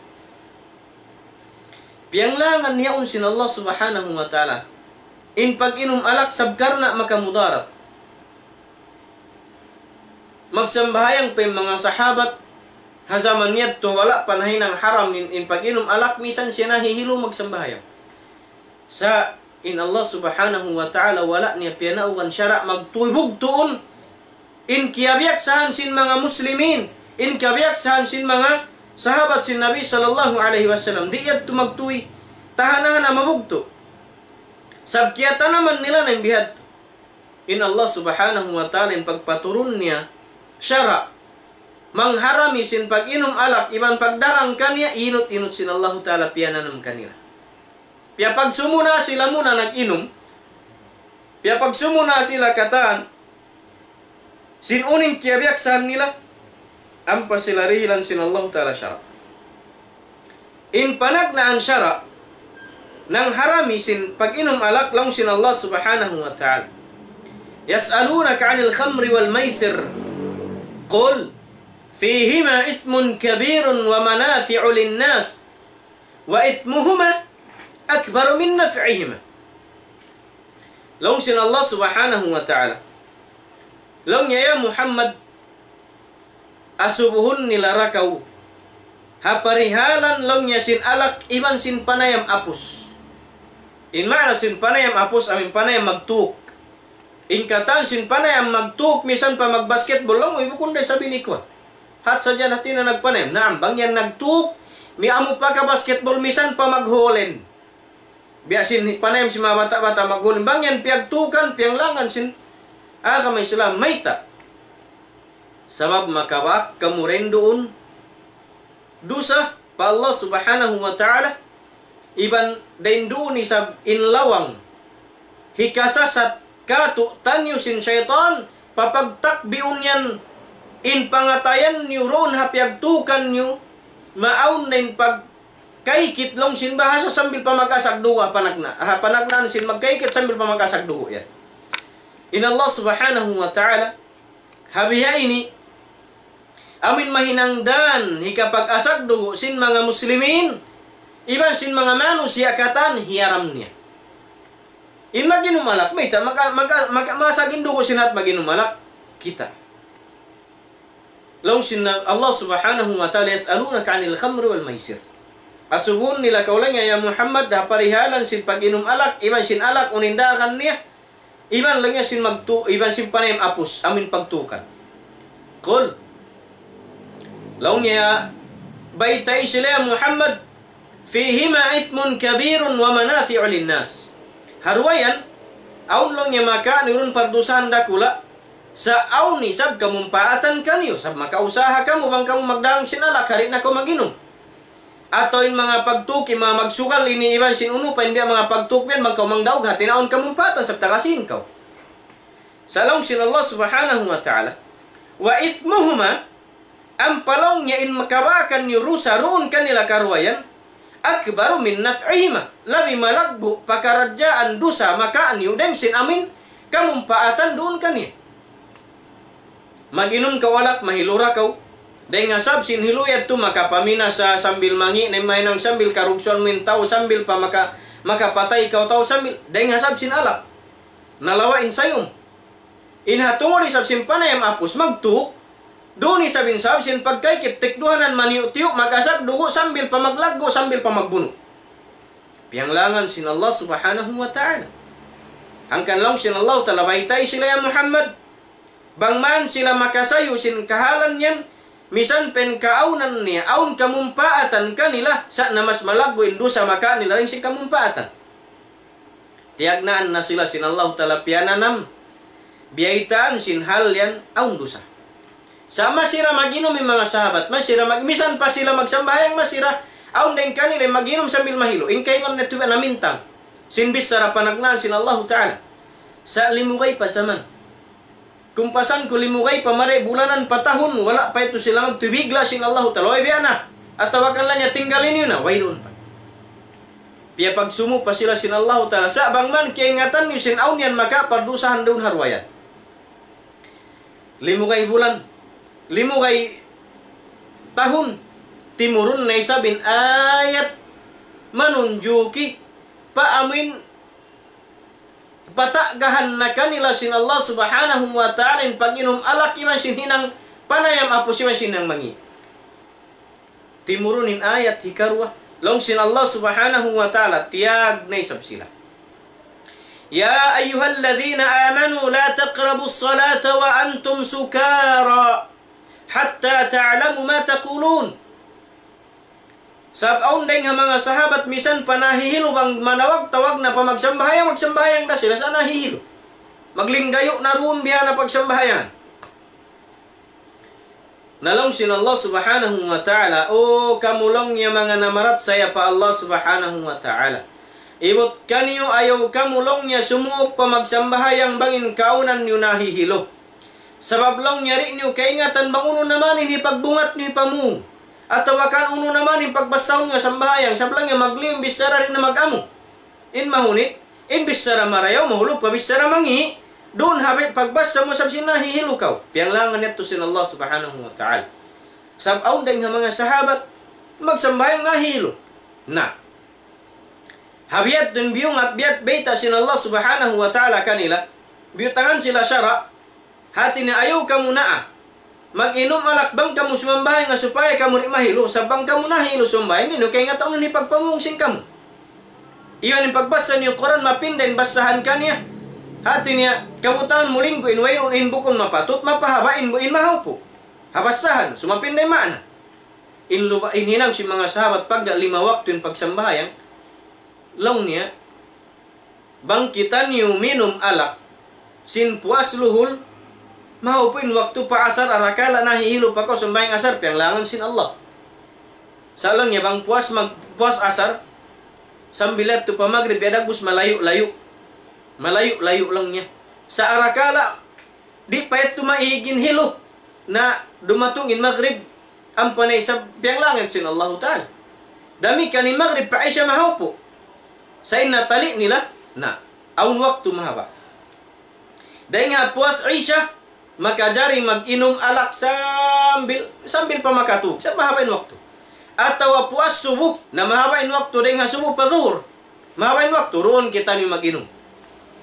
Piyanglangan niya yaun sin Allah Subhanahu wa Ta'ala in pag-inum alak sabab karna' makamudarat. Magsambahayang pa in manga sahabat, ha jaman yadtu wala' pa nahinang haram in, in pag-inum alak, misan siya nahihilu magsambahayang. Sa' in Allah Subhanahu wa Ta'ala wala' niya piyanaugan sara' magtuy bugtuun in kiyabiyaksahan sin manga muslimin, in kiyabiyaksahan sin manga sahabat sin Nabi sallallahu alayhi wasallam. Di' yadtu magtuy, tahan-tahan na mabugtu'. Sabab kiyatanaman nila na in bihadtu. In Allah Subhanahu wa Ta'ala in pagpaturun niya sara' mangharami sin pag-inum alak iban pagdagang kaniya, inut-inut sin Allahu Ta'ala piyananam kanila. Piyapagsumu na sila muna nag-inum, piyapagsumu na sila katan, sin unu in kiyabiyaksahan nila, ampa sila dihilan sin Allahu Ta'ala sara'. In panagnaan sara' nangharami sin pag-inum alak, laung sin Allah Subhanahu wa Ta'ala, يسألونك عن الخمر والميسر قل فيهما إثم كبير ومنافع للناس وإثمهما أكبر من نفعهما. Laung sin Allah Subhanahu wa Ta'ala, laung niya, "Ya Muhammad, asubuhun nila ra kaw ha parihalan," laung niya, "sin alak iban sin panayam apus." In maana sin panayam apus, amu in panayam magtuk. In katan sin panayam magtuk, misan pa magbasketball, laung, "Uy, bukun da isab ini kuwan. Hat sadja na hati na nagpanayam." Naam, bang yan nagtuk, mi-, amu pa ka basketball, misan pa maghulen. Biya' sin panayam sin manga bata'-bata' maghulen. Bang yan piyagtukan, piyanglangan sin agama Islam, mayta'? Sabab makabak kamu dayn duun dusa pa Allah Subhanahu wa Ta'ala, iban dayn duun isab in lawang hikasasat katu'taniyu sin saytan, papagtakbiun yan in pangatayan niyu duun ha piyagtukan niyu, maawn na in pagkaykit laung sin bahasa sambil pa mag-asak dugu' ha panagna-, ha panagnaan sin magkaykit sambil pa mag-asak dugu' yan. In Allah Subhanahu wa Ta'ala, ha bihaini, amu in mahinang dan hikapag-asak dugu' sin manga muslimin, iban sin manga manusiya' katan hiyaram niya. In mag-inum alak, mayta', maka-, maka-, maka-, masak in dugu' sin hat mag-inum alak, kita. Laung sin Allah Subhanahu wa Ta'ala, يسألونك عن الخمر والميسر. Asubuhun nila kaw laung niya, ya Muhammad, ha parihalan sin pag-inum alak, iban sin alak, unu in dagan niya, iban laung niya sin magtu-, iban sin panayam apus, amu in pagtukan. Qul. Laung niya, baytai sila ya Muhammad, فيهما إثم كبير ومنافع للناس. Ha duwa yan, awn laung niya makaniyu duun pardusahan dakula', sa' awn isab kamumpaatan kaniyu, sabab makausaha kamu bang kamu magdagang sin alak, di' na kaw mag-inum. Atawa in manga pagtuk, in manga magsugal ini iban sin unu pa, in biya' manga pagtuk yan, bang kaw mangdaug, hati na awn kamumpaatan, sabab taga sīn kaw. Sa' laung sin Allah Subhanahu wa Ta'ala, وإثمهما, ampa laung niya in makabakan niyu dusa duun kanila karuwa yan, أكبر من نفعهما, labi malaggu' pakaradjaan dusa makaniyu dayn sin amu in kamumpaatan duun kaniya. Mag-inum kaw alak, mahilu ra kaw. Dayn ha sabab sin hilu yadtu makapaminasa sambil mangi' na in mahinang, sambil karugsuan mu in tau, sambil pa maka-, makapatay kaw tau, sambil dayn ha sabab sin alak. Nalawa' in sayum. In ha tungud isab sin panayam apus magtuk, duun isab in sabab sin pagkaykit tikduhanan maniyu'-tiyu', mag-asak dugu' sambil pa maglaggu', sambil pa magbunu'. Piyanglangan sin Allah Subhanahu wa Ta'ala. Hangkan laung sin Allah Ta'ala, baytai sila ya Muhammad, bang man sila makasayu sin kahalan yan, misan pa in kaawnan niya, awn kamumpaatan kanila, sa' na mas malaggu' in dusa makanila dayn sin kamumpaatan. Tiyagnaan na sila sin Allahu Ta'ala piyananam, biyaytaan sin hal yan awn dusa. Sa' masi ra mag-inum in manga sahabat, masi ra mag-, misan pa sila magsambahayang, masi ra, awn dayn kanila mag-inum sambil mahilu. In kaibanan yadtu namintang sin bichara panagnaan sin Allahu Ta'ala. Sa' limugay pa jaman. Kumpasan ku limugay pa mari bulanan pa tahun, wala' pa yadtu sila magtuy, bigla' sin Allahu Ta'ala, "Uy, biya' na. Atawa kan laung niya tinggali niyu na," wayruun pa. Piyapagsumu pa sila sin Allahu Ta'ala. Sa' bang man kiyaingatan niyu sin awn yan makapardusahan duun ha duwa yan. limugay bulan, limugay tahun, timurun na isab in ayat manunjuki pa amuin patagahan na kanila sin Allah Subhanahu wa Ta'ala in pag-inum alak iban sin hinang panayam apus iban sin hinang mangi'. Timurun in ayat hikaruwa. Laung sin Allah Subhanahu wa Ta'ala, tiyag na isab sila. يا أيها الذين آمنوا لا تقربوا الصلاة وأنتم سكارى حتى تعلموا ما تقولون. Sabab awn dayng ha manga sahabat misan pa nahihilu bang manawag-tawag na pa magsambahayang, magsambahayang da sila sa' nahihilu. Maglinggayu' na duun biya' na pagsambahayang. Na laung sin Allah Subhanahu wa Ta'ala, "O kamu laung niya manga namarachaya pa Allah Subhanahu wa Ta'ala. Ibut kaniyu ayaw kamu laung niya sumuuk pa magsambahayang bang in kaunan niyu nahihilu. Sabab laung niya di' niyu kaingatan bang unu na man in hipagbungat niyu hipamung. Atawa kan unu na man in pagbasahun niyu sambahayang, sabab laung niya magliyum bichara di' na mag-amu." In mahunit, in bichara marayaw, mahulug pa bichara mangi', duun ha pagbasa mu sabab sin nahihilu kaw. Piyanglangan yadtu sin Allah Subhanahu wa Ta'ala. Sabab awn dayng ha manga sahabat, magsambahayang nahihilu. Na. Ha biya' yadtu in biyungat, biya' bayta' sin Allah Subhanahu wa Ta'ala kanila, biyutangan sila sara', hati niya ayaw kamu naa mag-inum alak bang kamu sumambahayang, supaya kamu di' mahilu, sabab bang kamu nahilu sumambahayang, di' niyu kaingatan in pagpamung sin kamu. Iban in pagbasa niyu Qur'an, mapinda in basahan kaniya. Hati niya, kabutangan mu linggu in wayruun in bukun mapatut, mapahaba' in bu-, in mahaupu'. Ha basahan, sumapinda in maana. In luba, in hinang sin manga sahabat pagga lima waktu in pagsambahayang, laung niya, bang kitaniyu minum alak, sin puas luhul, mahaupu' in waktu pa asar, arakala' nahihilu pa kaw sambahayang asar, piyanglangan sin Allah. Sa' laung niya bang puas mag-, puas asar, sambil yadtu pa magrib, biya' dagbus malayu'-layu'. Malayu'-layu' laung niya. Sa' arakala' di' pa yadtu maig in hilu, na dumatung in magrib, ampa na isab piyanglangan sin Allahu Ta'ala. Damikkiyan in magrib pa isya mahaupu'. Sa' in natali' nila, na, awn waktu mahaba'. Dayng ha puas isya, makajari mag-inum alak sambil, sambil pa makatug, sa' mahaba' in waktu. Atawa puas subu, na mahaba' in waktu dayng ha subu pa duhur. Mahaba' in waktu, duun kitaniyu mag-inum.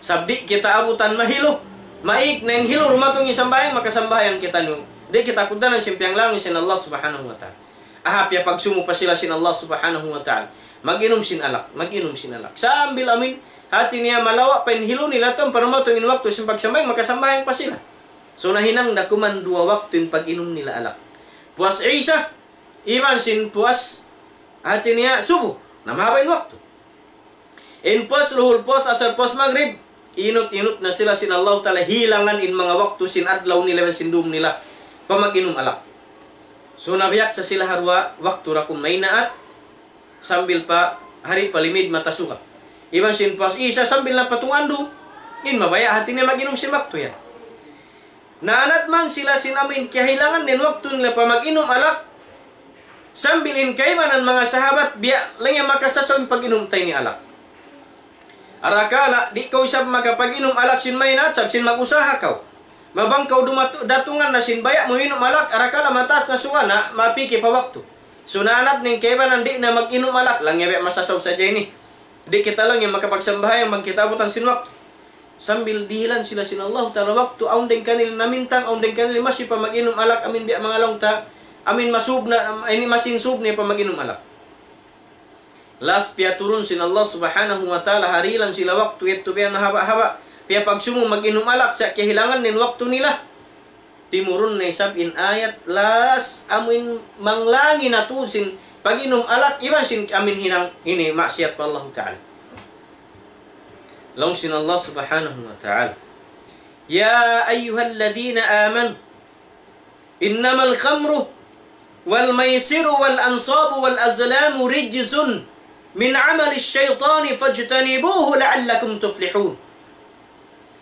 Sabab di' kita abutan mahilu. Maig na in hilu, dumatung in sambahayang, makasambahayang kitaniyu. Di' kita kugdanan sin piyanglangan sin Allah Subhanahu wa Ta'ala. Aha, piyapagsumu pa sila sin Allah Subhanahu wa Ta'ala. Mag-inum sin alak, mag-inum sin alak. Sambil amuin, hati niya malawa' pa in hilu nila, tun pa dumatung in waktu sin pagsambahayang, makasambahayang pa sila. So, nahinang da kuman duwa waktu in pag-inum nila alak. Puas isya, iban sin puas, hati niya, subu. Na mahaba' in waktu. In puas luhul, puas asar, puas magrib, inut-inut na sila sin Allahu Ta'ala, hilangan in manga waktu sin adlaw nila iban sin dum nila pa mag-inum alak. So, nabiyak sa sila ha duwa waktu da kuman maynaat, sambil pa hari pa limid mata suga. Iban sin puas isya sambil na pa tungandu, in mabaya' hati niya mag-inum sin waktu yan. Naanad man sila sin amuin kiyahilangan in waktu nila pa mag-inum alak, sambil in kaibanan manga sahabat, biya' laung niya makasasaw in pag-inum ta ini alak. Arakala', di' kaw isab makapag-inum alak sin maynaat, sabab sin mag-usaha kaw. Mabang kaw dumatu-, datungan na sin baya' mu minum alak, arakala' mataas na suga na, mapiki pa waktu. So, naanad in kaibanan di' na mag-inum alak, laung niya biya' masasaw sadja ini. Di' kita laung niya makapagsambahayang bang kita abutan sin waktu. Sambil dihilan sila sin Allahu Ta'ala waktu, awn dayng kanila namintang, awn dayng kanila masi pa mag-inum alak, amuin biya' manga laung ta, amuin masub na, ini masi in sub niya pa mag-inum alak. Last piyaturun sin Allah Subhanahu wa Ta'ala, harilan sila waktu yadtu biya' na haba'-haba', piyapagsumu mag-inum alak sa' kiyahilangan in waktu nila. Timurun na isab in ayat, last amuin manglangi na tuud sin pag-inum alak, iban sin amuin hinang ini maksiyat pa Allahu Ta'ala. Laung sin Allah Subhanahu wa Ta'ala, يا أيها الذين آمنوا إنما الخمر والميسر والأنصاب والأزلام رجس من عمل الشيطان فاجتنبوه لعلكم تفلحون.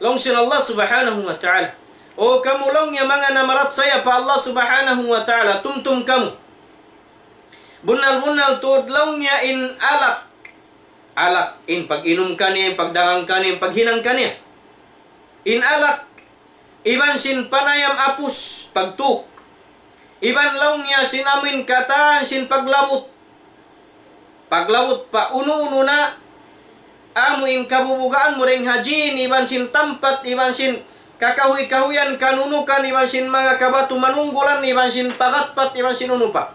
Laung sin Allah Subhanahu wa Ta'ala, "O kamu laung niya manga namarachaya pa Allah Subhanahu wa Ta'ala, tumtum kamu. Bunnal-bunnal tuud laung niya in alak." Alak, in pag-inum kaniya, in pagdagang kaniya, in paghinang kaniya. In alak, Iban sin panayam apus, pagtuk. Iban laung niya sin amuin katan sin paglabut. Paglabut pa unu-unu na, amuin kabubugaan mu dayn ha jin, iban sin tampat, iban sin kakahuy-kahuyan, kanunukan, iban sin manga kabatu manunggulan, iban sin pagatpat, iban sin unu pa.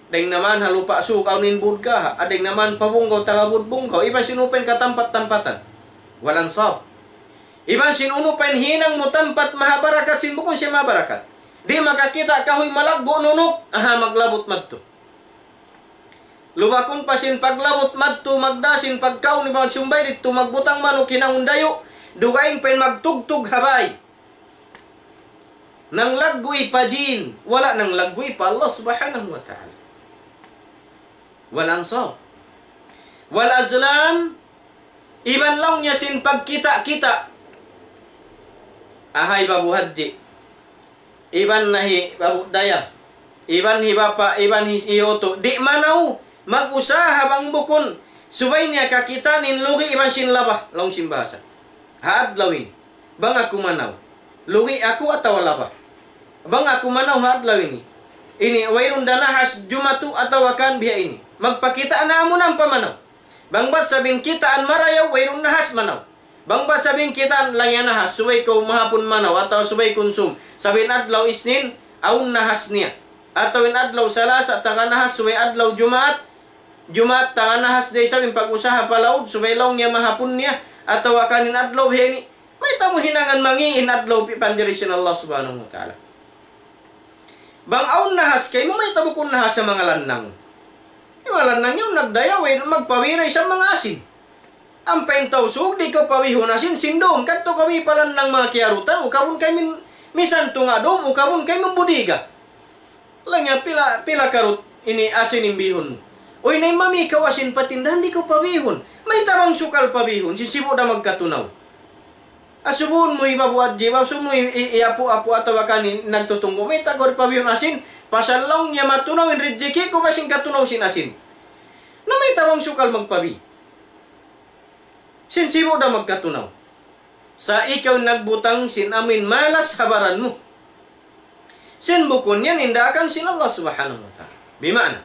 Dayn naman ha lupa' sug, awn in budga, dayn naman pa bunggaw, taga budbunggaw, iban sin unu pa in katampat-tampatan. Wal ansab. Iban sin unu pa in hinang mu tampat mahabarakat sin bukun siya mahabarakat. Di' makakita' kahuy malaggu' nunuk, aha, maglabut madtu. Lubakun pa sin paglabut madtu, magdā sin pagkaun iban sumbay didtu, magbutang manuk hinangun dayu', dugaing pa in magtugtug ha bāy. Nanglagguy pa jin, wala' nanglagguy pa Allah Subhanahu wa Ta'ala. Wal ansab. Wal azlam, iban laung niya sin pagkita'-kita'. Aha, hi Babu Hadji. Iban na hi Babu Dayang. Iban hi Bapa', iban hi, hi Utu'. Di' manaw, mag-usaha bang bukun. Subay niya kakitaan in lugi' iban sin laba, laung sin bahasa. Ha adlaw ini. Bang aku manaw. Lugi' aku atawa laba. Bang aku manaw ha adlaw ini. Ini, wayruun da nahas jumatu atawa kan biya' ini. Magpakita' na amu na in pamanaw. Bang bat sabab in kitaan marayaw, wayruun nahas manaw. Bang bat sabab in kitaan laung niya nahas, subay kaw mahapun manaw, atawa subay kunsum. Sabab in adlaw Isnin, awn nahas niya. Atawa in adlaw Salasa, taga nahas, subay adlaw Jumaat, Jumaat, taga nahas, di' sabab in pag-usaha pa laud, subay laung niya mahapun niya, atawa kan in adlaw biya' ini. Mayta' mu hinangan mangi' in adlaw pi-, panjari sin Allah Subhanahu wa Ta'ala. Bang awn nahas kaymu, mayta' bukun nahas ha manga lannang. In manga lannang yan nagdayaw, eh, magpawi da isab manga asin. Ampa in Tausug, di' kaw pawihun asin, sin duun, kadtu kaw wi pa lannang manga kiyarutan, ukabun kaymu in, misan tunga' dum, ukabun kaymu in budiga. Laung niya, pila, pila karut ini asin in bihun mu? Uy, naimami kaw asin pa tindahan, di' kaw pabihun. Mayta' bang sukal pabihun, sin sibu' da magkatunaw. Asubuhun mu hi Babu Hadji, asubuhun mu hi, hi, hi Apu'-apu' atawa kan in nagtutunggu'. Mayta' kaw di' pabihun asin, pasal laung niya matunaw in rijiki' ku, bang sin katunaw sin asin. Na mayta' bang sukal magpabi. Sin sibu' da magkatunaw. Sa' ikaw in nagbutang sin amuin malas ha baran mu. Sin bukun yan in daakan sin Allah Subhanahu wa Ta'ala. Bima'na,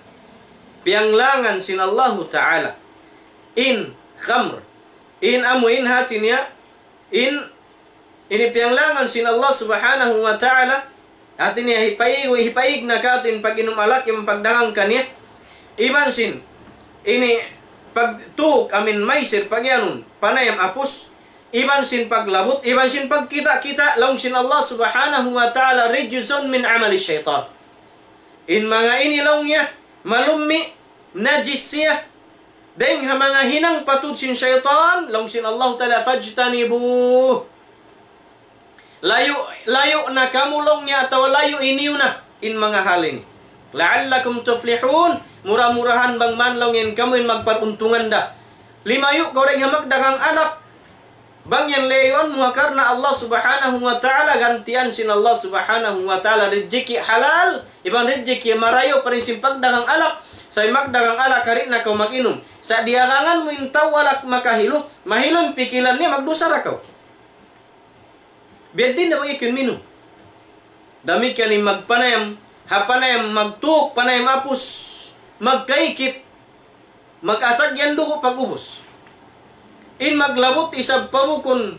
piyanglangan sin Allahu Ta'ala in khamr, in amuin hati niya, in, ini piyanglangan sin Allah Subhanahu wa Ta'ala, hati niya hipaig, hipaig na katu' in pag-inum alak, in pagdagang kaniya. Iban sin, ini pagtuk, amuin maisir, pag-iyanun, panayam apus, iban sin paglabut, iban sin pagkita'-kita', laung sin Allah Subhanahu wa Ta'ala, رجس من عمل الشيطان. In manga ini laung niya, malummi', najis siya, dayng ha manga hinang patud sin saytan, laung sin Allah Ta'ala, فاجتنبوه. Layu', layu' na kamu laung niya atawa layu' niyu na in manga hal ini. لعلكم تفلحون, mura-murahan bang man laung in kamu in magparuntungan da. Limayu' kaw dayng ha magdagang alak. Bang yan layuan mu ha karna' Allah Subhanahu wa Ta'ala, gantian sin Allah Subhanahu wa Ta'ala rijiki' halal, iban rijiki' marayaw pa rin sin pagdagang alak. Sa' in magdagang alak, kari na kaw mag-inum. Sa' diyagangan mu in tau alak makahilu, mahilu in pikilan niya, magdusa da kaw. Biya' diin da bang ikaw in minum. Damikkiyan in magpanayam, ha panayam magtuk, panayam apus, magkaikit, mag-asag yan dugu' pag-ubus. In maglabut isab pa bukun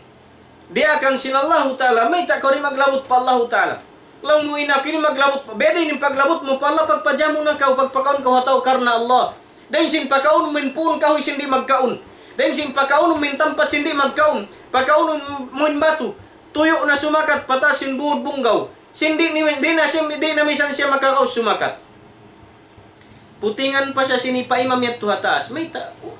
diyaakan sin Allahu Ta'ala, mayta' kaw di' maglabut pa Allahu Ta'ala? Laung mu in aku ini maglabut pa, biya' diin in paglabut mu pa Allah, pagpajamu na kaw, pagpakaun kaw ha tau karna' Allah. Dayng sin pakaun mu in puun kahuy sin di' magkaun. Dayng sin pakaun mu in tampat sin di' magkaun. Pakaun mu in batu. Tuyu' na sumakat pa taas sin būd bunggaw. Sin di' ni, di' na siya, di' na misan siya makakaus sumakat. Putingan pa siya sin hipaimam yadtu ha taas. Mayta', oh.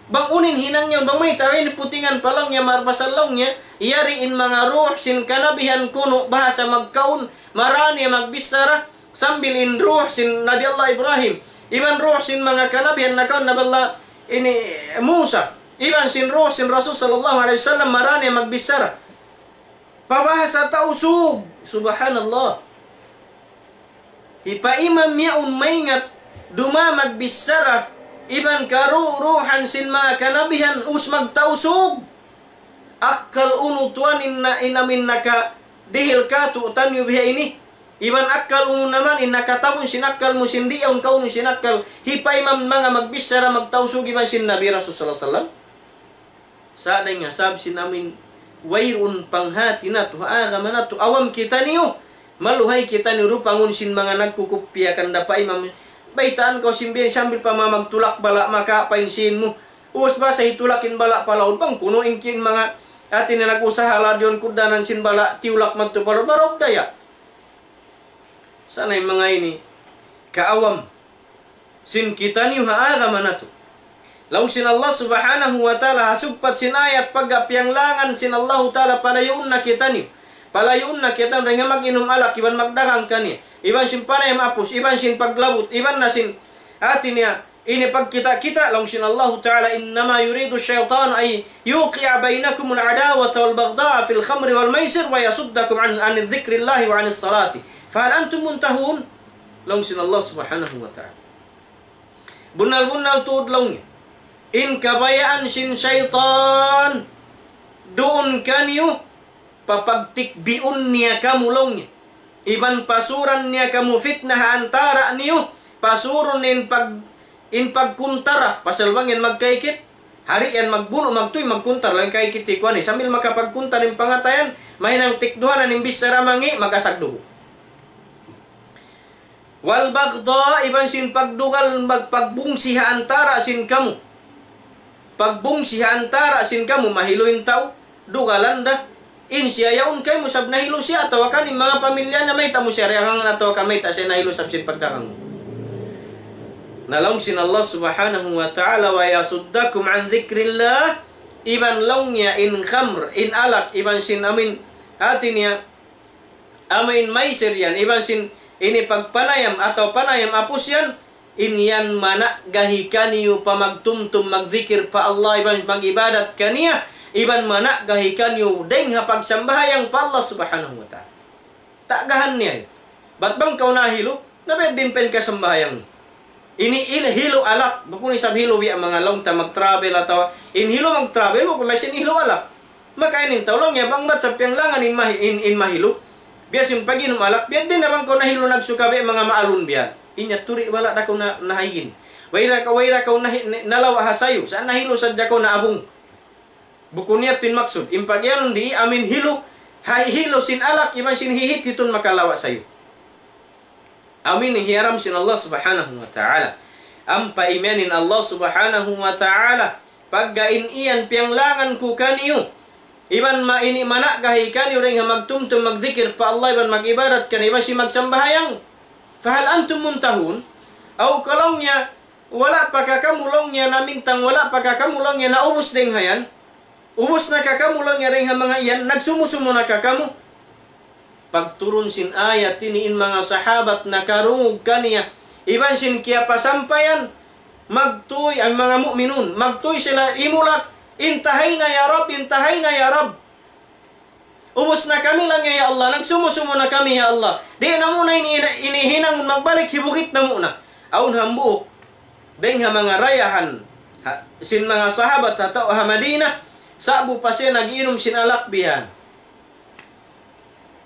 Bang unu in hinang niya, bang mayta' in putingan pa laung niya, marbasal laung niya, yari in manga ruh sin kanabihan kunu' bahasa magkaun, marā niya magbichara, sambil in ruh sin Nabi Allah Ibrahim, iban ruh sin manga kanabihan nakaun Nabi Allah ini Musa, iban sin ruh sin Rasul sallallahu alayhi wasallam, marā niya magbichara. Pa bahasa Tausug, subhanallah. Hipaimam yaun maingat, dumā magbichara, iban karuh-ruhan sin manga kanabihan, ubus magtausug. Akkal unu tuwan in na, in amin nakadihil kātu'niyu biha ini. Iban akkal unu naman in nakatabun sin akkal mu sin di' yaun kaunu sin akkal. Hipaimam manga magbichara magtausug iban sin Nabi Rasul sallallahu alayhi wasallam. Sa' dayn ha sabab sin amin wayruun panghati natu', ha agama natu', awam kitaniyu. Maluhay kitaniyu rupangun sin manga nagkukupiya kan da paimam. Baytaan kaw sin biya' sambil pa manga magtulak bala' maka painsin mu. Ubus basa hitulak in bala' pa laud bang kunu' in kin manga hati na nag-usaha ladiyon kugdanan sin bala' tiyulak madtu pa laud. Barog daya. Sa' na in manga ini kaawam sin kitaniyu ha agama natu'. Laung sin Allah Subhanahu wa Ta'ala, ha sugpat sin ayat pagga piyanglangan sin Allahu Ta'ala palayuun na kitaniyu. Palayuun na kitaniyu dayn ha mag-inum alak, iban magdagang kaniya. Iban sin panayam apus, iban sin paglabut, iban na sin hati niya, ini pagkita'-kita', laung sin Allahu Ta'ala, إنما يريد الشيطان أن يوقع بينكم العداوة والبغضاء في الخمر والميسر ويصدكم عن، عن ذكر الله وعن الصلاة فهل أنتم منتهون؟ Laung sin Allah Subhanahu wa Ta'ala. Bunnal-bunnal tuud laung niya. In kabayaan sin saytan duun kaniyu, papagtikbiun niya kamu laung niya. Iban pasuran niya kamu fitna ha antara' niyu, pasurun in pag-, in pagkuntara, pasal bang yan magkaikit, hari yan magbunu', magtuy, magkuntara, laung kaikit ikuan eh. Sambil makapagkuntara in pangatayan, mahinang tikduhanan in bichara mangi', mag-asag dugu'. والبغضاء, iban sin pagdugal, mag-, pagbungsi ha antara' sin kamu. Pagbungsi ha antara' sin kamu, mahilu in tau, dugalan da. In siya yaun kaymu sab nahilu siya, atawa kan in manga pamilya na mayta' mu siya dagangan atawa kan mayta' siya nahilu sab sin pagdagang. Na laung sin Allah Subhanahu wa Ta'ala, ويصدكم عن ذكر الله, iban laung niya in khamr, in alak, iban sin amin, hati niya, amu in maisir yan, iban sin ini pagpanayam atawa panayam apus yan, in yan mana'gahi kaniyu pa magtumtum magdikir pa Allah iban mag-ibadat kaniya, iban mana'gahi kaniyu dayng ha pagsambahayang pa Allah Subhanahu wa Ta'ala. Ta'gahan niya. Bat bang kaw nahilu, na biyadiin pa in kasambahayang. Ini il-, hilu alak, bukun isab hilu biya' manga laung ta mag-travel atawa in hilu mag-travel, bukun masi in hilu alak. Maka in tau laung niya bang bat sa piyanglangan in mahi-, in, in mahilu. Biya' sin pag-inum alak, biya' diin na bang kaw nahilu nagsuka biya' manga maalun biya'. In niya turi wala' da kaw na, nahayin. Wayra kaw, wayra kaw nahi-, nalawa' ha sayu, sa' nahilu sadja kaw naabung. Bukun niya tuud in maksud. In pagiyanun di amin hilu, ha hilu sin alak, iban sin hihit hitun makalawa' sayu. Amin hiyaram sin Allah Subhanahu wa Ta'ala. Ampa imiyan in Allah Subhanahu wa Ta'ala, pagga in iyan piyanglangan ku kaniyu, iban ma ini mana'gahi kaniyu dayng ha magtumtum magdikir pa Allah iban mag-ibadat kaniya iban sin magsambahayang. فهل أنتم منتهون؟ Aw ka laung niya, wala' pa ka kamu laung niya namintang, wala' pa ka kamu laung niya naubus dayng ha yan? Ubus na ka kamu laung niya dayng ha manga yan, nagsumusumu na ka kamu? Pagturun sin ayat ini in manga sahabat nakarungug kaniya, iban sin kiyapasampayan, magtuy, in manga mu'minun, magtuy sila imulak, انتهينا يا رب، انتهينا يا رب. Ubus na kami laung niya, ya Allah, nagsumusumu na kami, ya Allah. Di' na muna ini, ini hinangun magbalik, hibugit na muna. Awn hambuuk dayng ha manga dayahan, ha, sin manga sahabat ha tau ha Madina, sa'bu pa siya nag-inum sin alak bihan.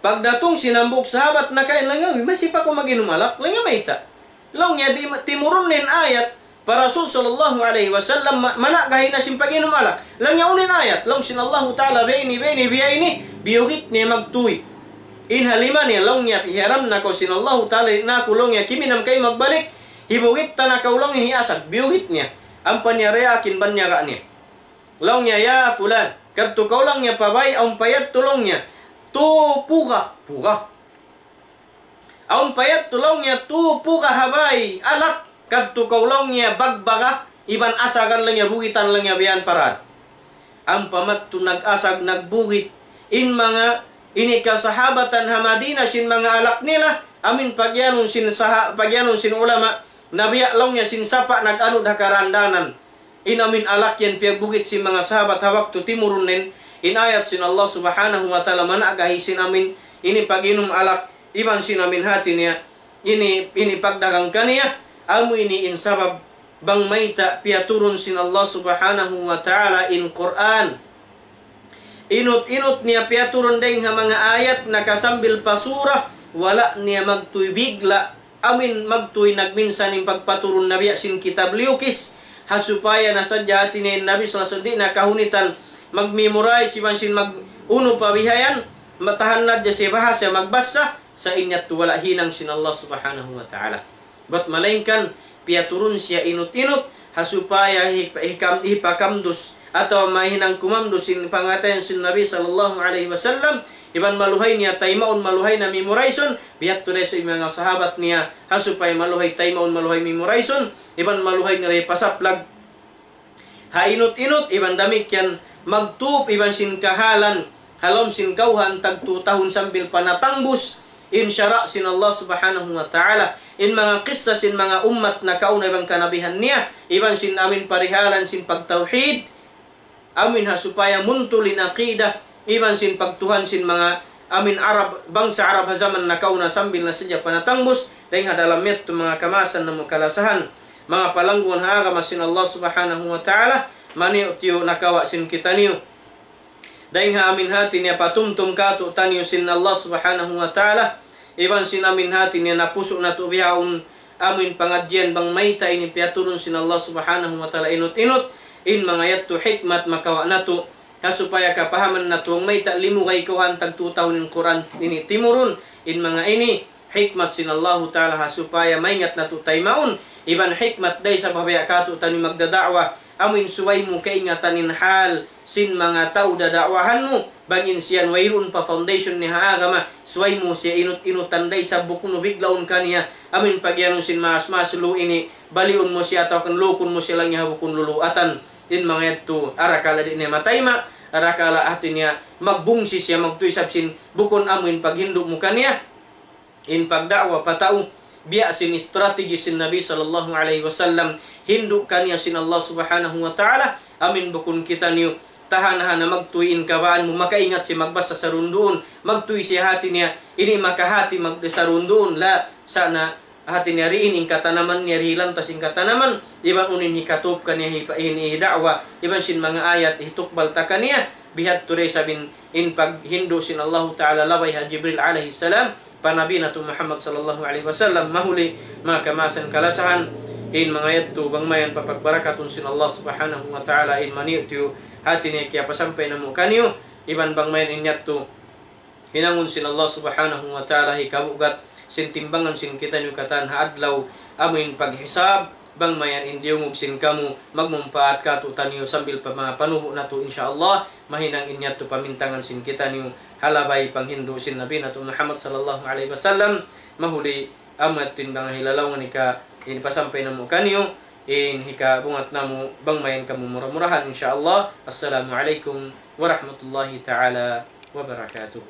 Pagdatung sin hambuuk sahabat nakain, laung niya, "Uy, masi pa kaw mag-inum alak?" Laung niya, "Mayta'?" Laung niya, di-, timurun na in ayat pa Rasul sallallahu alayhi wasallam, ma-, mana'gahi na sin pag-inum alak. Laung niya, "Unu in ayat?" Laung sin Allahu Ta'ala, "Biya' ini, biya' ini, biya' ini," biyugit niya magtuy. In ha lima niya, laung niya, "Pihiyaram na kaw sin Allahu Ta'ala, di' na aku," laung niya, "kiminam kaymu magbalik, hibugit ta na kaw," laung niya, "hiyasag," biyugit niya. Ampa niya diyaakin banyaga' niya. Laung niya, "Ya fulan, kadtu kaw," laung niya, "pa bay, awn pa yadtu," laung niya, "tū puga," puga. "Awn pa yadtu," laung niya, "tū puga ha bay alak, kadtu kaw," laung niya, "bagbaga, iban asagan," laung niya, "bugitan," laung niya, "biyan parad." Ampa madtu nag-asag, nagbugit in manga ini kasahabatan ha Madina sin manga alak nila, amin pagiyanun sin saha-, pagiyanun sin ulama, na biya' laung niya sin sapa' nag-anud ha karandanan. In amin alak yan piyagbugit sin manga sahabat ha waktu timurun na in, in ayat sin Allah Subhanahu wa Ta'ala mana'gahi sin amin ini pag-inum alak, iban sin amin hati niya, ini, ini pagdagang kaniya, amu ini in sabab bang mayta' piyaturun sin Allah Subhanahu wa Ta'ala in Qur'an. inut-inut niya piyaturun dayng ha manga ayat nakasambil pa surah, wala' niya magtuy bigla', amuin magtuy nagminsan in pagpaturun na biya' sin kitab liyukis, ha supaya na sadja hati niya in Nabi sallallahu alayhi wasallam di' na kahunitan mag-memorize iban sin mag-unu pa bihayan, matahan na hadja siya bahasa magbasa, sa' in yadtu wala' hinang sin Allah Subhanahu wa Ta'ala. Bat malaingkan, piyaturun siya inut-inut, ha supaya hi-, hikam-, hipakamdus, atawa mahinang kumamdus in pangatayan sin Nabi sallallahu alayhi wasallam, iban maluhay niya taymaun, maluhay na memorize-un, biya' tuud sa' manga sahabat niya, ha supaya maluhay taymaun, maluhay memorize-un, iban maluhay nila hipasaplag ha inut-inut, iban damikkiyan magtup iban sin kahalan, ha lawm sin kawhaan tagtu tahun sambil pa natangbus in sara' sin Allah Subhanahu wa Ta'ala, in manga kissa sin manga ummat nakauna iban kanabihan niya, iban sin amuin parihalan sin pagtawhid, amuin ha supaya muntul in aqidah, iban sin pagtuhan sin manga amuin Arab, bangsa Arab ha jaman nakauna sambil na sadja pa natangbus, dayng ha dalam yadtu manga kamaasan namu' kalasahan, manga palanggungan ha agama sin Allah Subhanahu wa Ta'ala, maniyu-tiyu nakawa' sin kitaniyu. Dayng ha amuin hati niya patumtum kātu'niyu sin Allah Subhanahu wa Ta'ala, iban sin amuin hati niya napusu' natu' bihaun amuin pangadjian bang mayta' ini piyaturun sin Allah Subhanahu wa Ta'ala inut-inut, in manga yadtu hikmat makawa' natu', ha supaya kapahaman natu' bang mayta' limugay kawhaan tagtu tahun in Qur'an ini timurun, in manga ini, hikmat sin Allahu Ta'ala ha supaya maingat natu' taymaun, iban hikmat da isab ha biya' kātu'niyu magdada'wa, amuin subay mu kaingatan in hal sin manga tau dada'wahan mu, bang in siya wayruun pa foundation niya ha agama, subay mu siya inut-inutan da isab bukun mu biglaun kaniya, amuin pagiyanun sin maas-maas lu ini, baliun mu siya atawa kan lukun mu siya laung niya ha bukun luluatan, in manga yadtu, arakala' di' niya matayma', arakala' hati niya magbungsi siya magtuy isab sin bukun amuin paghindu' mu kaniya, in pagda'wa pa tau, biya' sin strategy sin Nabi sallallahu alayhi wasallam, hindu' kaniya sin Allah Subhanahu wa Ta'ala, amuin bukun kitaniyu, tahan-tahan na magtuy in kabaan mu, makaingat siya magbasa sarunduun, magtuy siya hati niya, ini makahati mag-, sarunduun, la, sa' na, hati niya ri in katanaman niya, ri lantas in katanaman, iban unu in hikatup kaniya hi, ini da'wa, iban sin manga ayat hitukbal ta kaniya, bihadtu da isab in in paghindu' sin Allahu Ta'ala labay ha Jibril alayhi salam, pa Nabi natu' Muhammad sallallahu alayhi wasallam, mahuli, manga kamaasan kalasahan, in manga yadtu bang mayan papagbarakatun sin Allah Subhanahu wa Ta'ala, in maniyu-tiyu hati niya kiyapasampay namu' kaniyu, iban bang mayan in yadtu hinangun sin Allah Subhanahu wa Ta'ala hikabugat sin timbangan sin kitaniyu katan ha adlaw, amuin paghisab, bang mayan in diyungug sin kamu, magmumpaat kātu'niyu sambil pa manga panubu' natu', insya Allah, mahinang in yadtu pamintangan sin kitaniyu, ha labay panghindu' sin Nabi natu' Muhammad sallallahu alayhi wasallam, mahuli amu yadtu in manga hilalaungan hika, in pasampay namu' kaniyu, in hikabungat namu', bang mayan kamu mura-murahan, insya Allah. Assalamu alaykum warahmatullahi ta'ala wabarakatuh.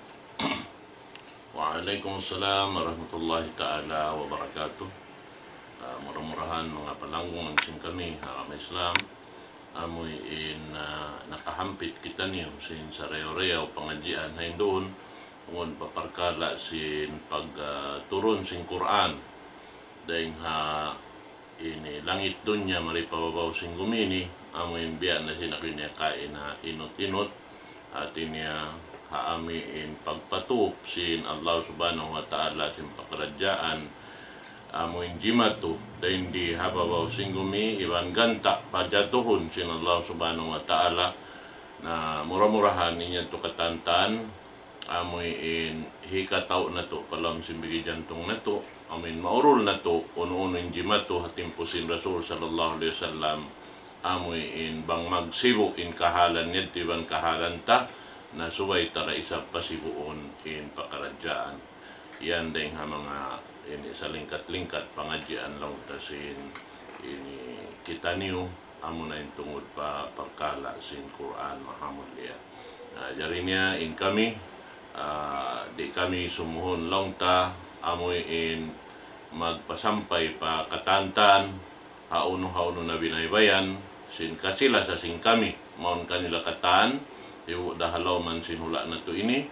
Wa alaykum assalam warahmatullahi ta'ala wabarakatuh. Ah, mura-murahan manga palanggungan sin kami ha agama Islam, amuin, ah, nakahampit kitaniyu sin sarayaw-rayaw pangadjian ha yan duun, tungud pa parkala' sin pag, ah, turun sin Qur'an dayng ha ini langit dunya mari pa babaw sin gumi ini, amuin biya' na sin aku ini kaina inut-inut, hati niya ha amuin pagpatup sin Allah Subhanahu wa Ta'ala sin pakaradjaan, amuin jimatu, dayn di ha babaw sin gumi, iban ganta' pajatuhun sin Allah Subhanahu wa Ta'ala, na mura-murahan in yadtu katantan, amuin hikatau' natu' pa lawm sin bigi jantung natu', amuin maurul natu', unu-unu in jimatu ha timpu sin Rasul sallallahu alayhi wasallam, amuin bang magsibu' in kahalan niya, iban kahalan ta, na subay ta da isab pasibuun in pakaradjaan. Yan dayng ha manga ini salingkat-lingkat pangadjian laung ta sin ini kitaniyu, amuna in tungud pa parkala' sin Qur'an mahamulliya. Ah, jari niya in kami, ah, di' kami sumuhun laung ta, amuin magpasampay pa katantan, ha unu-unu na binaybayan, sin kasi-lasa sin kami, mawn kanila katan, ibu da ha lawm sin hula' natu' ini,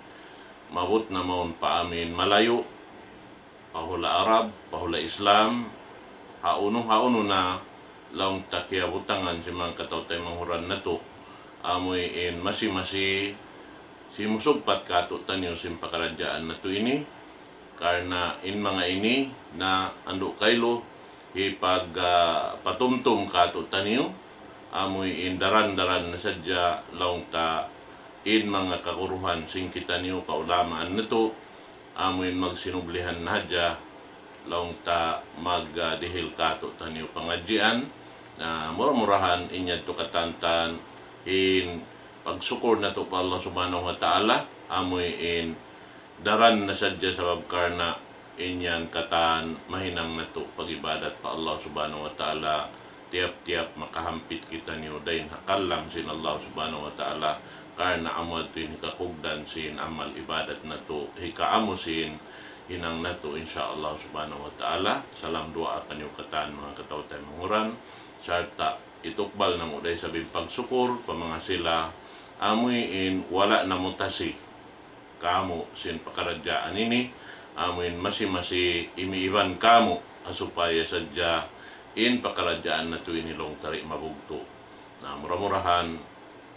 maabut na mawn pa amuin malayu', pa hula' Arab, pa hula' Islam, ha unu-unu na laung ta kiyabutangan sin manga kataw-taymanghuran natu', amuin masi-masi, simusugpat kātu'niyu sin pakaradjaan natu' ini, karna' in manga ini na andu' kailu hipag, ah, patumtum kātu'niyu, amuin daran-daran na sadja laung ta in manga kaguruhan sin kitaniyu kaulamaan natu', amuin magsinublihan na hadja laung ta magdihil kātu'niyu pangadjian. Na mura-murahan in yadtu katantan in pagsukur natu' pa Allah Subhanahu wa Ta'ala, amuin daran na sadja sabab karna' in yan katan mahinang natu' pag-ibadat pa Allah Subhanahu wa Ta'ala, tiyap-tiyap makahampit kitaniyu dayn ha kallang sin Allah Subhanahu wa Ta'ala, karna' amu yadtu in hikakugdan sin amal ibadat natu', hikaamu sin hinang natu', insya Allah Subhanahu wa Ta'ala. Salam duwaa kaniyu katan manga kataw-taymanghuran, sarta' itukbal namu' da isab in pagsukur pa manga sila, amuin wala' namutasi kamu' sin pakaradjaan ini, amuin masi-masi imiiban kamu', ha supaya sadja in pakaradjaan natu' ini laung ta di' mabugtu'. Na mura-murahan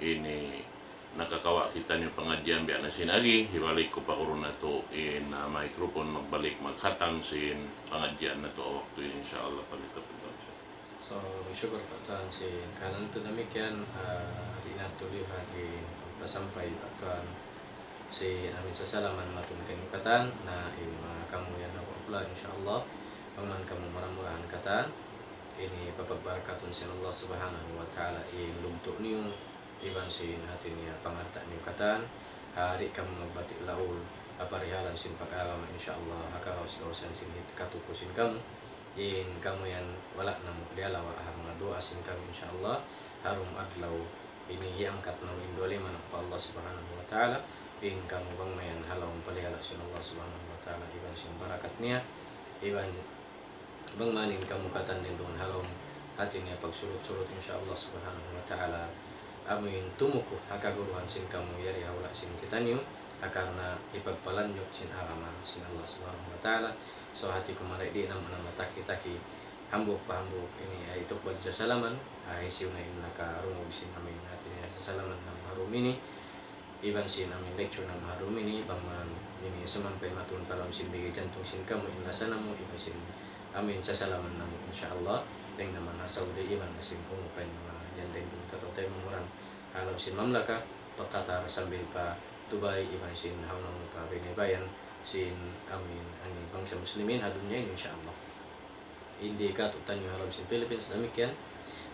ini nakakawa' kitaniyu pangadjian biya' na sin agi, hibalik ku pa guru natu' in, ah, microphone magbalik magkhatam sin pangadjian natu' ha waktu ini, insya Allah, pagkita-kita. So, sukul pa Tuhan sin kanan tu damikkiyan, ah, di' natu' lihan in pagpasampay pa Tuhan sin amin sasalaman matun kaniyu katan, na in manga kamu yan na wapla, insya Allah, bang man kamu mura-murahan katan, ini papagbarakatun sin Allah Subhanahu wa Ta'ala in lugtu' niyu, iban sin hati niya pangarta' niyu katan, ha di' kamu magbati' laul, ha parihalan sin pag-agama, insya Allah, ha kagaus-gausan sin hit katuku sin kamu, in kamu yan wala' namu' liyalawa' ha manga duwaa sin kamu, insya Allah, ha dum adlaw ini hiyangkat namu' in duwa lima namu' pa Allah Subhanahu wa Ta'ala, in kamu bang mayan ha lawm palihala' sin Allah Subhanahu wa Ta'ala, iban sin barakat niya, iban bang man in kamu katan dayn duun ha lawm hati niya pagsurut-surut, insya Allah Subhanahu wa Ta'ala, amuin tumuku ha kaguruhan sin kamu yari ha hula' sin kitaniyu, ha karna' hipagpalanjut sin agama sin Allah Subhanahu wa Ta'ala. So hati ku mari di' namu' na mataki-taki, hambuuk pa hambuuk ini ay tukbal sasalaman, ay hisiyu na in nakarungug sin amin hati niya sasalaman namu' ha dum ini, iban sin amin lecture namu' ha dum ini, bang man ini sumampay matun pa lawm sin bigi jantung sin kamu in lasa namu', iban sin amin sasalaman namu', insya Allah, dayn naman ha Saudi, iban na sin umu pa in manga yan dayn duun kataw-taymanghuran, ha lawm sin mamlaka, pa Qatar sambil pa Dubai, iban sin hawnu-hawnu pa baybayan sin amin, ani bangsa muslimin ha dunya ini, insya Allah. Indi katu'niyu ha lawm sin Philippines damikkiyan.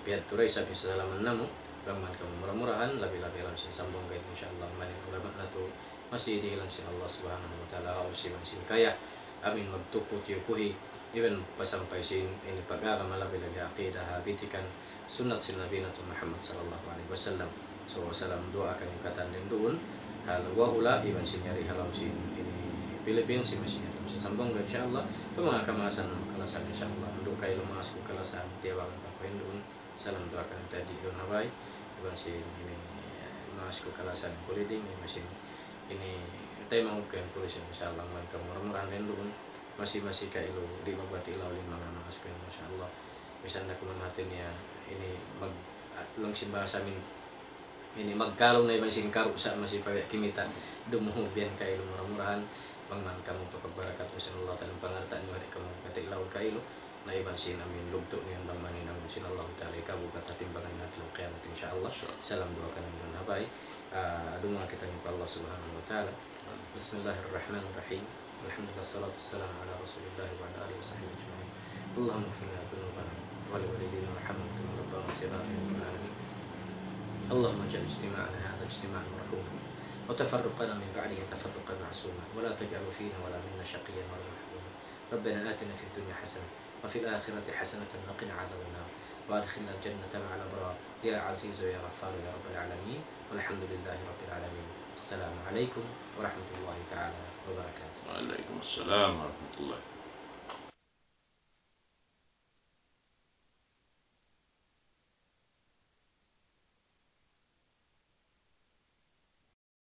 Biya' tuud isab in sasalaman namu', bang man kamu mura-murahan, labi-labi ha lawm sin Zamboanga ini, insya Allah, man in ulama natu' masi dihilan sin Allah Subhanahu wa Ta'ala, ha usiban sin kaya, amin magtuku tiyukuhi, iban pasampay sin ini pag-agama, labi-labi aqidah, ha bitikan sunnat sin Nabi natu' Muhammad sallallahu alayhi wasallam. So, salam duwaa kaniyu katan dayn duun ha hula' iban sin yari ha lawm sin ini Philippines, iban sin yari ha lawm sin Zamboanga, insya Allah. Pa manga kamaasan, kalasahan, insya Allah. Andu' kailu maas ku kalasahan, tiyawagan pa ku yan duun. Salam duwaa kaniyu taji' duun ha bay. Iban sin ini, eh, maas ku kalasahan kuliding, iban sin ini, taymangug ku yan pulis, insya Allah, man kamu mura-murahan dayn duun. Masi-masi kailu, di' magbati' laul in manga maas ku yan, insya Allah. Misan da kuman hati niya, ini mag-, ah, laung sin bahasa amin, ini magkalu na iban sin karu' sa' masi pag-, kimita', dumuhug yan kailu mura-murahan, bang man kamu papagbarakatun sin Allah Ta'ala, pangarta' niyu, di' kamu magbati' laul kailu, na iban sin amin lugtu' niyu bang man hinangun sin Allah Ta'ala, ikabugat ha timbangan adlaw kiyamat, insya Allah. Insya Allah. Salam duwaa kaniyu duun ha bay. Ah, duwaa kitaniyu pa Allah Subhanahu wa Ta'ala. بسم الله الرحمن الرحيم. الحمد لله، الصلاة والسلام على رسول الله وعلى آله وصحبه أجمعين. اللهم اغفر لنا ذنوبنا ولوالدينا وارحمهم كما ربونا صغارا يا رب العالمين. اللهم اجعل اجتماعنا هذا اجتماعا مرحوما وتفرقنا من بعده تفرقا معصوما ولا تجعل فينا ولا منا شقيا ولا محروما. ربنا آتنا في الدنيا حسنة وفي الآخرة حسنة وقنا عذاب النار وأدخلنا الجنة مع الأبرار يا عزيز يا غفار يا رب العالمين. والحمد لله رب العالمين. السلام عليكم ورحمة الله تعالى وبركاته. وعليكم السلام ورحمة الله.